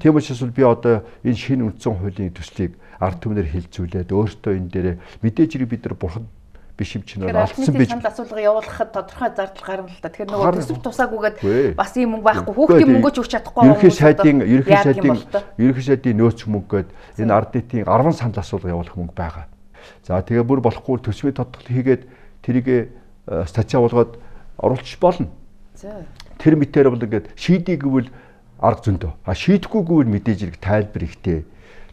B: Тийм учраас би одоо энэ шинэ үндсэн хуулийн төслийг ард түмнэр хилцүүлээд өөртөө энэ дээр мэдээж хэрэг бид нар бурхан биш юм чинь алдсан байж
A: санал асуулга явуулахад тодорхой зардал гарна л та. Тэгэхээр нөгөө төсөв тусаагүйгээд бас ийм мөнгө байхгүй хүүхдийн мөнгөө ч өгч чадахгүй
B: юм. Ерөнхий сайдын ерөнхий сайдын ерөнхий сайдын нөөц мөнгөд энэ ард нийтийн ten санал асуулга явуулах мөнгө байгаа. За тэгээ бүр болохгүй төсвийн тодтол хийгээд тэрийг статья болгоод оруулчих болно. Тэр мэтээр бол ингээд шийдий гэвэл арга зөндөө. А шийдэхгүй гэвэл мэдээж хэрэг тайлбар ихтэй.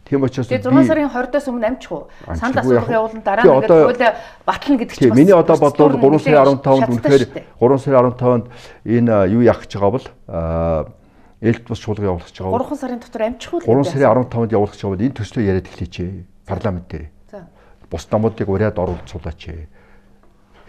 B: Тийм учраас
A: би зургаан сарын twenty-аас өмнө амжих уу? Санал асуулга явуулна дараа нь ингээд хуулиа батлна гэдэг чинь бас.
B: Миний одоо бодлоор three сарын fifteen-нд үнэхээр three сарын fifteen-нд энэ юу яах гэж байгаа бол элт бус чуулга явуулах гэж байгаа.
A: three сарын дотор амжих уу?
B: three сарын fifteen-нд явуулах гэж байгаа бол энэ төслөө яриад эхлэеч парламент дээр. Бус намуудыг ураад оруулж суулаач.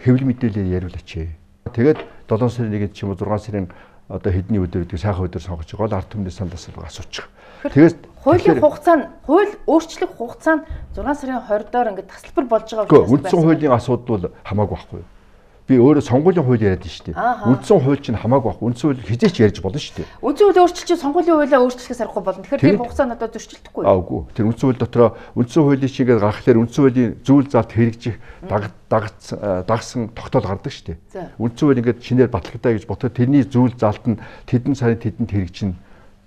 B: Хэвлэл мэдээлэл яриулаач. Тэгээд seven сарын one-нд ч юм уу six сарын одоо хэдний өдөр гэдэг сайхан өдөр сонгож байгаа бол ард түмний санал асуулга асуучих.
A: Тэгээд хуулийн хугацаа нь хууль өөрчлөх хугацаа нь six сарын twenty-доор ингээд тасалбар болж байгаа
B: учраас үндсэн хуулийн асуудал бол хамаагүй байхгүй. Би өөрөө сонгуулийн хууль яриад шүү дээ. Үндсэн хууль чинь хамаагүй байхгүй. Үндсэн хууль хизээч ярьж болно шүү дээ.
A: Үндсэн хууль өөрчлөлт сонгуулийн хуулиа өөрчлөхөөс аргагүй болно. Тэгэхээр тэр хугацаа нь одоо зөрчилдөхгүй.
B: Аа үгүй. Тэр үндсэн хууль дотроо үндсэн хуулийн чигээр гаргахлаар үндсэн хуулийн зүйл заалт хэрэгжих дагсан тогтоол гардаг шүү дээ. Үндсэн хууль ингээд шинээр батлагдаа гэж ботоо тэрний зүйл заалт нь тэдэн сарын тэдэнд хэрэгжинэ.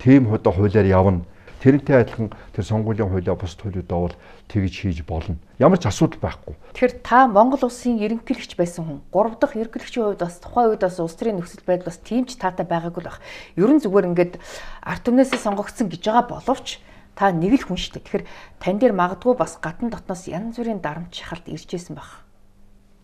B: Тэм хуудаа хуулиар явна. Тэрнтэй адилхан тэр сонгуулийн хуулиа бус хуулиудаа бол тэгж хийж болно. Ямар ч асуудал байхгүй.
A: Тэгэхээр та Монгол улсын ерөнхийлөгч байсан хүн гурав дахь ерөнхийлөгчийн хувьд бас тухайн үед бас улс төрийн нөхцөл байдал бас тийм ч таатай байгаагүй л баг. Ерөн зүгээр ингээд ард түмнээсээ сонгогдсон гэж байгаа боловч та нэг л хүн шүү дээ. Тэгэхээр тань дээр магадгүй бас гадна дотноос янз бүрийн дарамт шахалт ирж байсан баг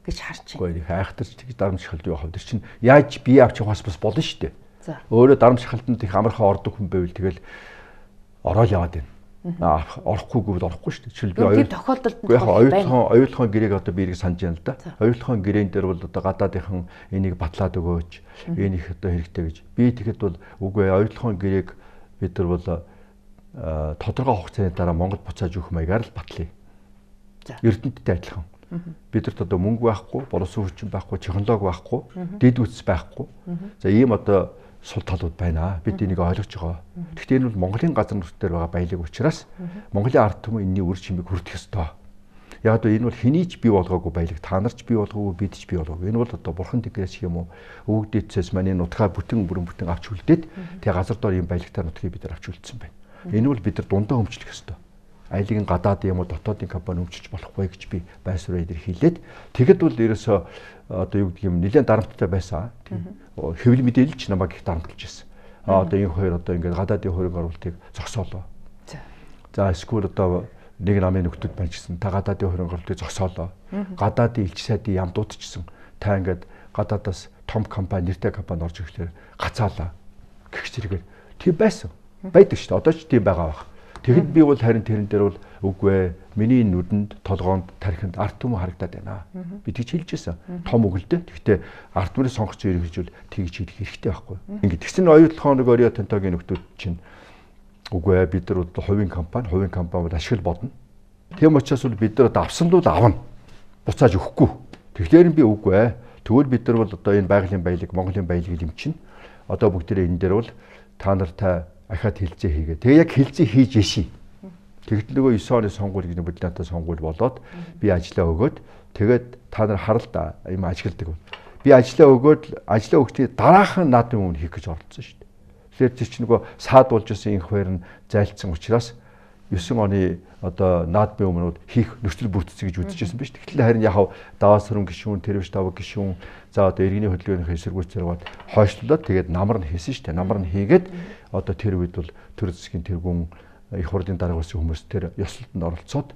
A: гэж харж байна.
B: Гэхдээ хайхтарч тэгж дарамт шахалт юу хавд чинь яаж бие авч явахаас бас болно шүү дээ. Өөрөө дарамт шахалтанд их амархан ордог хүн байвал тэгэл ороод яваад байна. Орохгүй гэвэл орохгүй шүү дээ. Жишээл би
A: оюул тохиолдолд
B: яг оюулхан оюулхан гэрээг одоо би ирэх санаж байна л да. Оюулхан гэрээн дээр бол одоо гадаадынхан энийг батлаад өгөөч. Энэ их одоо хэрэгтэй гэж. Би тэгэхэд бол үгүй оюулхан гэрээг бид нар бол тодорхой хугацааны дараа Монгол буцааж өгөх маягаар л батлая. Эрдэнэттэй адилхан. Бидэрт одоо мөнгө байхгүй, боловсон хүчин байхгүй, технологи байхгүй, дэд үтс байхгүй. За ийм одоо сул талууд байна. Бид энийг ойлгож байгаа. Гэхдээ энэ бол Монголын газар нутгаар байгаа баялаг учраас Монголын ард түмэн энэний үр чимийг хүртэх ёстой. Яг одоо энэ бол хэний ч бий болгоогүй баялаг, та нар ч бий болгоогүй, бид ч бий болгоогүй. Энэ бол одоо бурхан дэгрээс юм уу, өвөг дээдсээс маань энэ нутгаа бүтэн бүрэн бүтэн авч үлдээд тэгээ газар дор ийм баялагтай нутгийг бид нар авч үлдсэн байна. Энэ бол бид нар дундаа өмчлөх ёстой. Айлын гадаад юм уу дотоодын компани өмчилж болохгүй гэж би байсвараа идэр хэлээд тэгэд бол ерөөсөө одоо юу гэдэг юм нэлээд дарамттай байсан. Хэвлэл мэдээлэлч намайг их дарамтлж байсан. Аа одоо энэ хоёр одоо ингээд гадаадын хөрөнгө оруулалтыг зогсоолоо. За эсвэл одоо нэг намын нөхдөд байна гэсэн та гадаадын хөрөнгө оруулалтыг зогсоолоо. Гадаадын элч сайдын ям дуудчихсан. Та ингээд гадаадаас том компани нэртэй компани орж ирэхээр гацаалаа гэх зэрэгээр тийм байсан. Байдаг шүү дээ. Одоо ч тийм байгаа байх. Тэгэд би бол харин тэрэн дээр бол үгүй ээ. Миний нүдэнд, толгоонд, тархинд арт түмэн харагдаад байна. Би тэгж хэлжсэн. Том өгөлдөө. Гэхдээ арт түмний сонгогч ирэх гэж бол тэгж хэлэх хэрэгтэй байхгүй. Ингээд тэгсэн оюутлахоо нэг Орио Тантагийн нөхдүүд чинь үгүй ээ. Бид нар бол хувийн компани, хувийн компани бол ашигла бодно. Тийм учраас бол бид нар авсан л авна. Буцааж өгөхгүй. Тэгэхээр би үгүй ээ. Тэгвэл бид нар бол одоо энэ байгалийн баялаг, Монголын баялагийг эмчинэ. Одоо бүгдээрээ энэ дээр бол та нартай ахаад хилцээ хийгээ. Тэгээ яг хилцээ хийж яший. Тэгэхдээ нөгөө девять оны сонгуул гэж бодлоотой сонгуул болоод би ажиллаа өгөөд тэгээд та нар харал да юм ажигладаг. Би ажиллаа өгөөд ажиллаа өгтөө дараахан наадмын өмнө хийх гэж оролцсон шүү дээ. Тэгэхээр тэр чинь нөгөө саад болж исэн инх баяр нь зайлцсан учраас девять оны одоо наадмын өмнөд хийх нөхцөл бүрдсэн гэж үзчихсэн биз. Тэгтэл харин яг даваас хөрөн гишүүн, тэрвш тавг гишүүн за одоо иргэний хөдөлгөөний эсэргүүц зэрэг хойшлуулаад тэгээд намар нь хийсэн шүү дээ. Намар нь хийгээд одоо тэр үед бол төр засгийн тэргүүн их хурлын дарга болсон хүмүүс тэр ёслолтод оролцоод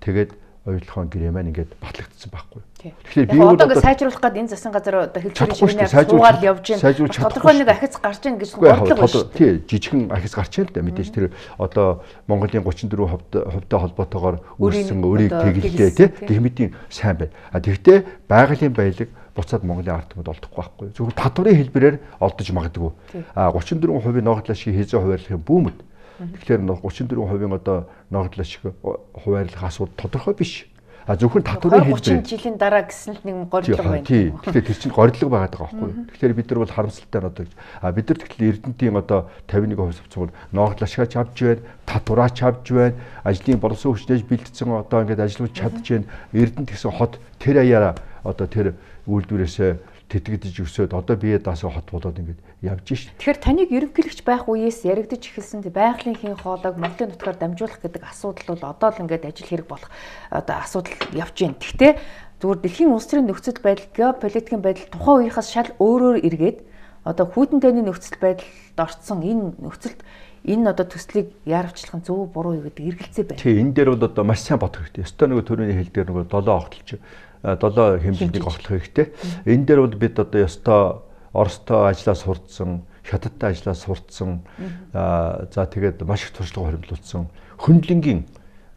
B: тэгээд оюутлахын гэрээ маань ингээд батлагдсан байхгүй.
A: Тэгэхээр би одоо ингээд сайжруулах гээд энэ засгийн газар одоо хэлцээрийн шивнээр суугаад явж байна. Тодорхой нэг ахиц гарч ийн гэж бодлого байна шүү.
B: Тий, жижигхэн ахиц гарч ийн л да. Мэдээж тэр одоо Монголын тридцать четыре хувьтай холбоотойгоор үүссэн өрийг тэгэлдээ тий. Гэх мэтийн сайн байна. А тэгвэл байгалийн баялаг буцаад Монголын ард түмэд олдохгүй байхгүй. Зөвхөн татварын хэлбэрээр олдож магадгүй. А тридцать четыре хувийн ногдлол шиг хязгаа хуваарлахын бүүмэд. Тэгэхээр тридцать четыре хувийн одоо ногдлол шиг хуваарлах асуудал тодорхой биш. А зөвхөн татварын хэлбэр
A: тридцать жилийн дараа гэсэн л нэг горилго байна.
B: Тий. Тэгэхээр тэр чинь горилго байгаад байгаа байхгүй. Тэгэхээр бид нар бол харамсалтай нь одоо а бид нар тэгэхээр Эрдэнэтийн одоо пятьдесят one хувь авцсан бол ногдлол ашигаач авч байна, татвараач авч байна, ажлын боловсон хүчнээс бэлдсэн одоо ингээд ажиллаж чадж байна. Эрдэнэт гэсэн хот тэр аяараа одоо тэр үйлдвэрээсээ тэтгэдэж өсөөд одоо бие даасаа хот болоод ингээд явж шít.
A: Тэгэхээр таныг ерөнхийлөгч байх үеэс яригдж эхэлсэн байгалийн хийн хоолойг Монголын нутгаар дамжуулах гэдэг асуудал бол одоо л ингээд ажил хэрэг болох одоо асуудал явж байна. Гэхдээ зүгээр дэлхийн улс төрийн нөхцөл байдал, геополитикийн байдал тухайн үеийнхээс шал өөрөөр эргээд одоо хүйтэн тайны нөхцөл байдалд орцсон энэ нөхцөлд энэ одоо төслийг яарвчлах нь зөв буруу юу гэдэг эргэлзээ байна.
B: Тий, энэ дээр бол одоо маш сайн бодох хэрэгтэй. Өстой нөгөө төрөний хэл дээр нөгөө долоо огтлж долоо хэмжээнийг огтлох хэрэгтэй. Энэ дээр бол бид одоо ёстой Оростой ажиллаа сурцсан, Хятадтай ажиллаа сурцсан, за тэгээд маш их туршлага хоригдлуулсан хөндлөнгийн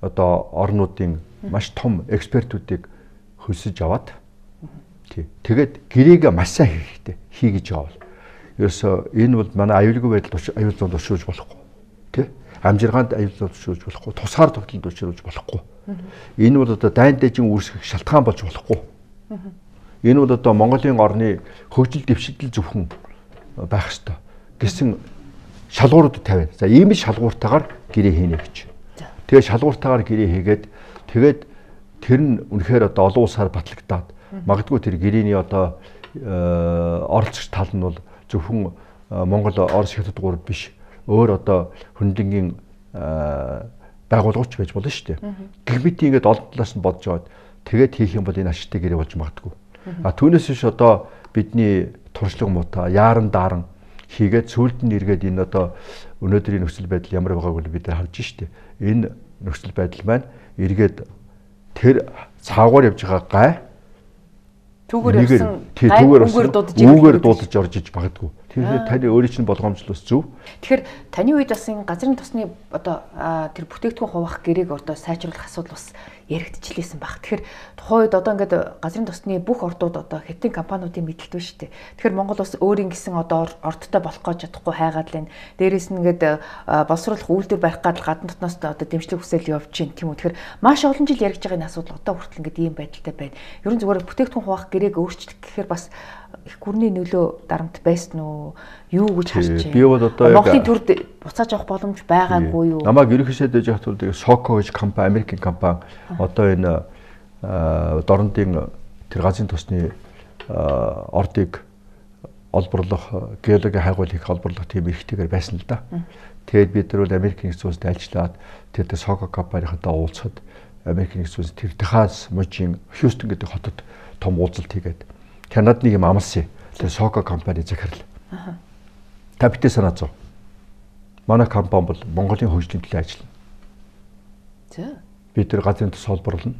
B: одоо орнуудын маш том экспертүүдийг хөлсөж аваад тий. Тэгээд гэрээгээ маш сайн хийх хэрэгтэй. Хий гэж явал. Ерөөсөө энэ бол манай аюулгүй байдал аюул зүйн тушруулж болохгүй. Тий. Амжиргаанд аюул зүйн тушруулж болохгүй. Тусгаар тогтолд тушруулж болохгүй. Энэ бол одоо дайн дэжин үүсгэх шалтгаан болж болохгүй. Энэ бол одоо Монголын орны хөгжил дэвшигдэл зөвхөн байх ёстой гэсэн шалгуурууд тавиана. За ийм шалгууртаагаар гэрээ хийнэ гэж. Тэгээ шалгууртаагаар гэрээ хийгээд тэгээд тэр нь үнэхээр одоо олон улсаар батлагдаад магадгүй тэр гэрээний одоо оролцогч тал нь бол зөвхөн Монгол, Орос, Хятад гурав биш. Өөр одоо хөндлөнгийн байгууллагч байж болно шүү дээ. Гэх мэт ингээд олон талаас нь бодож аваад тэгээд хийх юм бол энэ ашигтай гэрээ болж магадгүй. А түүнээс биш одоо бидний туршлага муута яаран дааран хийгээд сүүлд нь эргээд энэ одоо өнөөдрийн нөхцөл байдал ямар байгааг бид нар харж штэ. Энэ нөхцөл байдал маань эргээд тэр цаагаар явж байгаа гай
A: түүгээр явсан
B: гай үүгээр дуудаж орж иж магадгүй. Тэгэхээр таны өөрийн чинь болгоомжлол зөв.
A: Тэгэхээр таны үед бас энэ газрын тосны одоо тэр бүтээгдэхүүн хуваах гэрээг одоо сайжруулах асуудал бас яригдчихлээсэн баг. Тэгэхээр тухайн үед одоо ингээд газрын тосны бүх ордууд одоо хятадын компаниудын мэдлэлт байна шүү дээ. Тэгэхээр Монгол бас өөрийн гэсэн одоо ордтой болох гэж чадахгүй хайгаад байна. Дээрээс нь ингээд боловсруулах үйлдвэр барих гад гадна дотноос одоо дэмжлэг хүсэл явж байна тийм үү. Тэгэхээр маш олон жил яригдж байгаа энэ асуудал одоо хүртэл ингээд ийм байдалтай байна. Ерөн зүгээр бүтээгдэхүүн хуваах гэрээг өөрчлөх гэхээр бас их гүрний нөлөө дарамт байсан уу? Юу гэж харж байна?
B: Би бол одоо
A: Монголын төрд буцааж авах боломж байгаагүй юу?
B: Намайг ерөнхийдөө дэж хатвал тэгээ Соко гэж компани, Америкийн компани одоо энэ дорнодын тэр газрын тосны ордыг олборлох, геологийн хайгуул хийх олборлох тийм эрхтэйгээр байсан л да. Тэгээд бид нар бол Америкийн нэгдсэн улсад ажиллаад тэр тэр Соко компанийнхантай уулзахад Америкийн нэгдсэн улс тэр Техас мужийн Хьюстон гэдэг хотод том уулзалт хийгээд Канадад нэг юм амлсан. Тэр Соко компани захирал. Аа. Та битээ санаа зов. Манай компани бол Монголын хөгжлийн төлөө ажиллана. За. Бид тэр газрын тос холбоорлно.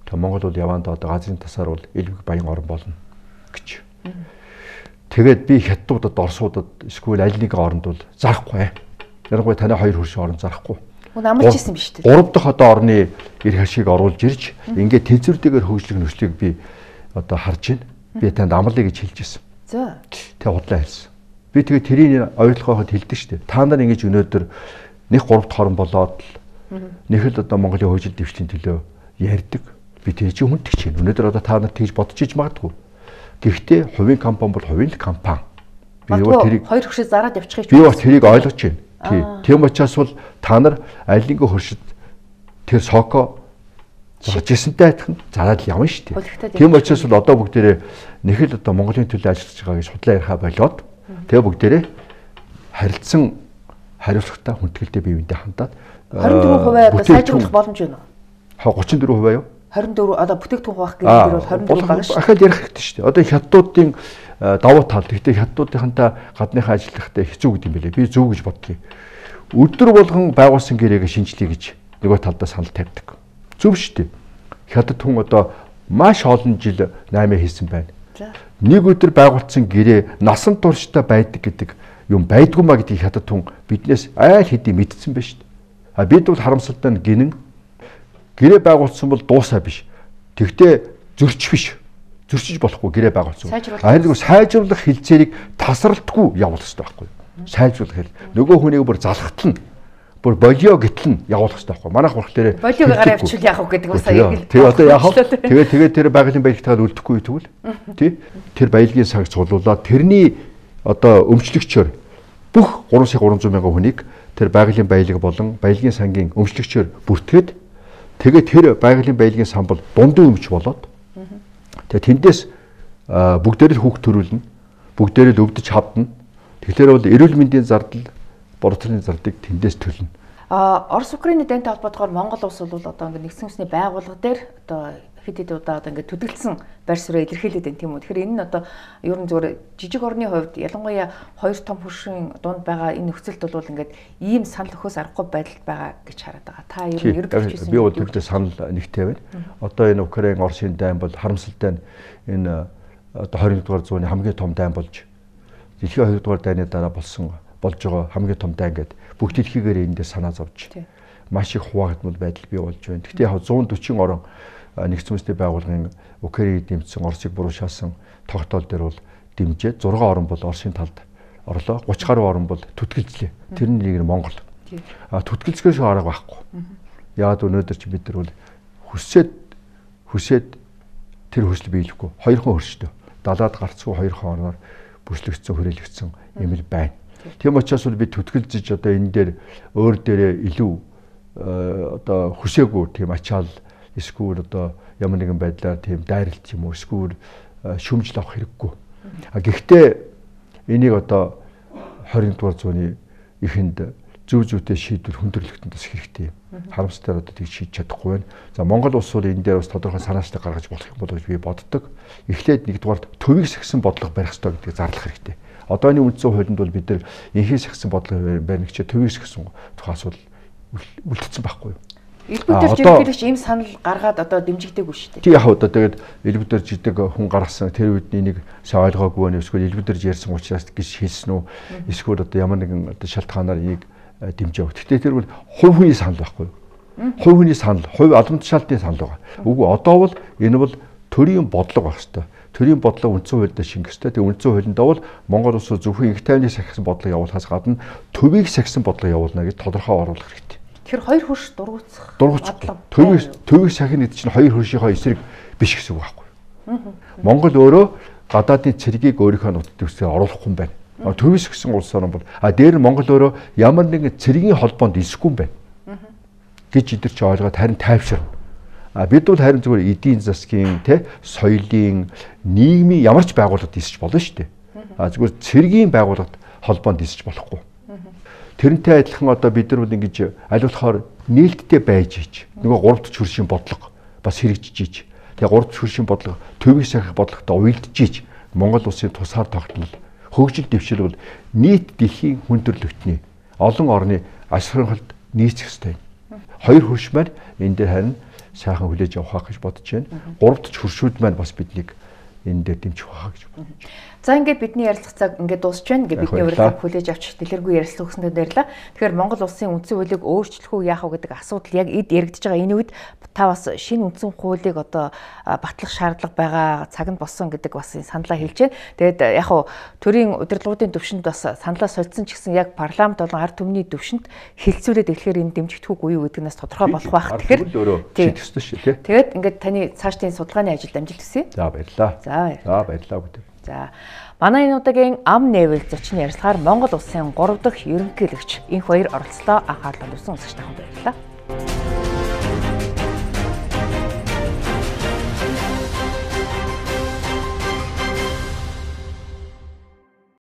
B: Тэгээ Монгол бол явандаа одоо газрын тасаар бол элбэг баян орн болно гэж. Тэгээд би хятадуудад, орсуудад эсвэл аль нэгэн оронд бол зарахгүй. Ярангуй таны хоёр хөршин орн зарахгүй.
A: Мөн амарч ирсэн биз дээ.
B: Гурав дахь одоо орны эрх ашиг оруулж ирж ингээд тэнцвэртэйгээр хөгжлөх нөхцөлийг би одоо харж байна. Би танд амлая гэж хэлж ирсэн.
A: За.
B: Тэг худлаа хэлсэн. Би тэгээ тэрийг ойлгоход хэлдэг шүү дээ. Та нар ингэж өнөөдөр нэг гурав дахь орн болоод л нэг л одоо Монголын хөгжил дэвшлийн төлөө ярьдаг. Би тэр чинь хүндэж чинь. Өнөөдөр одоо та нар тэгж бодож иж магадгүй. Гэхдээ хувийн компани бол хувийн л компани.
A: Би юу тэрийг хоёр хөшөө зараад явчихыг
B: би бас тэрийг ойлгож байна. Тий. Тийм учраас бол та нар аль нэгэн хөршид тэр Соко зуржсэнтэй адилхан зараад явна шүү дээ. Тийм учраас бол одоо бүгдээрээ нэг л одоо Монголын төлөө ажиллаж байгаа гэж судлаа ярихаа болоод тэгээ бүгдээрээ харилцсан хариуцлагатай хүндгэлтэй биеиндээ хандаад
A: двадцать четыре хувиар одоо сайжруулах боломж байна уу?
B: Ха тридцать четыре хувиар юу?
A: двадцать четыре одоо бүтээгдэхүүн хуваах гэдэг нь бол двадцать четыре байгаа шүү.
B: Ахаад ярих хэрэгтэй шүү дээ. Одоо хятадуудын давуу тал гэхдээ хятадуудынхантай гадныхаа ажиллахтай хэцүү гэдэг юм билээ. Би зөв гэж боддгийг. Өдөр болгон байгуулсан гэрээгээ шинжлэе гэж нөгөө талдаа санал тавьдаг. Зөв шүү дээ. Хятад хүн одоо маш олон жил наймаа хийсэн байна. Нэг өдөр байгуулсан гэрээ насан туршдаа байдаг гэдэг юм байдгүй маа гэдгийг хятад хүн биднээс айл хэдий мэдсэн байна шүү дээ. А бид бол харамсалтай нь гинэн гэрээ байгуулсан бол дуусаа биш. Тэгтээ зөрчих биш. Зөрчиж болохгүй гэрээ байгуулсан. Харин нөгөө сайжруулах хилцээрийг тасралтгүй явуулах хэрэгтэй байхгүй юу? Сайжруулах хэл. Нөгөө хүнийг бүр залхатлна. Бүр болио гэтлэн явуулах хэрэгтэй байхгүй юу? Манайх болохоор
A: болиог гараа авчвал яах вэ гэдэг бас аяг.
B: Тэгээ одоо яах вэ? Тэгээ тэгээ тэр байгалийн баялагтайгаар үлдэхгүй тэгвэл тий? Тэр баялагын цаг цуглуулаад тэрний одоо өмчлөгчөөр бүх гурван сая гурван зуун мянган хүнийг тэр байгалийн баялаг болон баялагын сангийн өмчлөгчөөр бүртгээд тэгээ тэр байгалийн баялагын сан бол дундын өмч болоод тэгээ тэндээс бүгдээр л хүүхд төрүүлнэ. Бүгдээр л өвдөж хавдна. Тэгэхээр бол эрүүл мэндийн зардал, борлуулалтын зардыг тэндээс төлнө.
A: А Орос Украины дантай холбоотойгоор Монгол улс бол одоо ингээд нэгдсэн үндэсний байгууллага дээр одоо хэд хэд удаа одоо ингээд төдөлдсөн байр суурь илэрхийлээд байна тийм үү. Тэгэхээр энэ нь одоо ер нь зүгээр жижиг орны хувьд ялангуяа хоёр том хөршийн дунд байгаа энэ нөхцөлд бол ингээд ийм санал өгөхөөс аргагүй байдалд байгаа гэж хараад байгаа. Та ер нь ерөнхийдөө
B: би бол тэгтээ санал нэгтэй байна. Одоо энэ Украин Оросын дайн бол харамсалтай нь энэ одоо двадцать дугаар зууны хамгийн том дайн болж дэлхийн хоёр дугаар дайны дараа болсон болж байгаа хамгийн том дайн гэдэг бүх дэлхийгээр эндээ санаа зовж маш их хуваагдмал байдал бий болж байна. Гэхдээ яг one forty орон нэгдсэн үндэсний байгууллагын Украиныг дэмжсэн Оросыг буруушаасан тогтоол дээр бол дэмжээд зураг орн бол Оросын талд орлоо. thirty гаруй орн бол түтгэлзлээ. Тэрний нэг нь Монгол. А түтгэлзгээс арга байхгүй. Яг өнөөдөр чи бид нар бол хүсээд хүсээд тэр хүсэл биелэхгүй. Хоёрхан хөрштэй. Далаад гарцгүй хоёрхан орноор бүслэгдсэн хүрээлэгдсэн юм л байна. Тийм учраас бол би түтгэлзэж одоо энэ дээр өөр дээрээ илүү одоо хүсээгүй тийм ачаал эсвэл одоо ямар нэгэн байдлаар тийм дайралт юм уу эсвэл шүмжил авах хэрэггүй. А гэхдээ энийг одоо twenty дугаар зууны эхэнд зөв зөвтэй шийдвэр хүндрэлтэнд бас хэрэгтэй юм. Харамсалтай одоо тийг шийдэж чадахгүй байна. За Монгол улс бол энэ дээр бас тодорхой санаачтай гаргаж болох юм болов гэж би боддог. Эхлээд нэгдүгээр төвийг сахисан бодлого барих хэрэгтэй гэдгийг зарлах хэрэгтэй. Одооний үндсэн хуулинд бол бид нар инхээс сахисан бодлого барих гэж төвийг сахисан тухай асуудал үлдсэн байхгүй юу?
A: Элбэг дээр жиргэлэгч ийм санал гаргаад одоо дэмжигдээгүй шүү дээ.
B: Тий яг одоо тэгээд элбэг дээр жидэг хүн гаргасан тэр үед нэг сайн ойлгоогүй нэ эсвэл элбэг дээр ярьсан учраас гэж хэлсэн үү? Эсвэл одоо ямар нэгэн одоо шалтгаанаар энийг дэмжэв. Гэхдээ тэр бол хувь хүний санал байхгүй юу? Хувь хүний санал, хувь албан тушаалтын санал байгаа. Үгүй одоо бол энэ бол төрийн бодлого байх хэвээр. Төрийн бодлого үндсэн хуульд шингэх хэвээр. Тэгээ үндсэн хуулиндаа бол Монгол улс зөвхөн их тайвны сахисан бодлого явуулахаас гадна төвийг сахисан бодлого явуулна гэж тодорхой оруулах хэрэгтэй.
A: Тэгэхээр хоёр хөрш дургуутсах.
B: Дургуутсах. Төвийг төвийг сахин гэдэг чинь хоёр хөршийнхөө эсрэг биш гэсэн үг байхгүй юу? Монгол өөрөө гадаадын цэргийг өөрийнхөө нутаг дэвсгэр оруулахгүй юм байна. Төвөөс гисэн улс орн бол а дээр нь Монгол өөрөө ямар нэгэн цэргийн холбоонд исэхгүй юм байна. гэж идэр чи ойлгоод харин тайвширна. А бид бол харин зүгээр эдийн засгийн те соёлын нийгмийн ямар ч байгууллагад исэж болно шүү дээ. А зүгээр цэргийн байгууллагад холбоонд исэж болохгүй. Тэрнтэй адилхан одоо бид нар бол ингэж аль болохоор нээлттэй байж ич. Нөгөө гуравт хөршийн бодлого бас хэрэгжиж ич. Тэгээ гуравт хөршийн бодлого төвийг сахих бодлоготой уялдж ич. Монгол улсын тусгаар тогтмол хөгжил дэвшил бол нийт дэлхийн хүн төрөлхтний олон орны аж ахуйнхалд нийцэх ёстой. Хоёр хөрш маань энэ дээр харин сайхан хүлээж авах гэж бодож байна. Гуравт хөршүүд маань бас биднийг энэ дээр дэмжих байхаа гэж бодож байна.
A: За ингээд бидний ярилцах цаг ингээд дуусч байна. Ингээд бидний урилгыг хүлээж авч дэлгэргүй ярилцлага өгсөндөө баярлалаа. Тэгэхээр Монгол улсын үндсэн хуулийг өөрчлөх үү яах вэ гэдэг асуудал яг эд яригдж байгаа энэ үед та бас шинэ үндсэн хуулийг одоо батлах шаардлага байгаа цаг нь болсон гэдэг бас саналаа хэлж байна. Тэгээд яг хуу төрийн удирдлагуудын төвшөнд бас саналаа солилцсон ч гэсэн яг парламент болон ард түмний төвшөнд хэлцүүлээд эхлэхээр энэ дэмжигдэхгүй үгүй юу гэдэг нь тодорхой болох байх. Тэгэхээр
B: шийдэх ёстой шүү тий.
A: Тэгээд ингээд таны цаашдын судалгааны ажилд амжилт хүсье.
B: За баярлалаа.
A: За
B: баярлалаа бүгд.
A: За манай энэ удаагийн ам нээвэл зочин ярилцлагаар Монгол улсын гурав дахь ерөнхийлөгч энх баяр оролцлоо анхаарлаа тавьсан үзэгч тахад баярлалаа.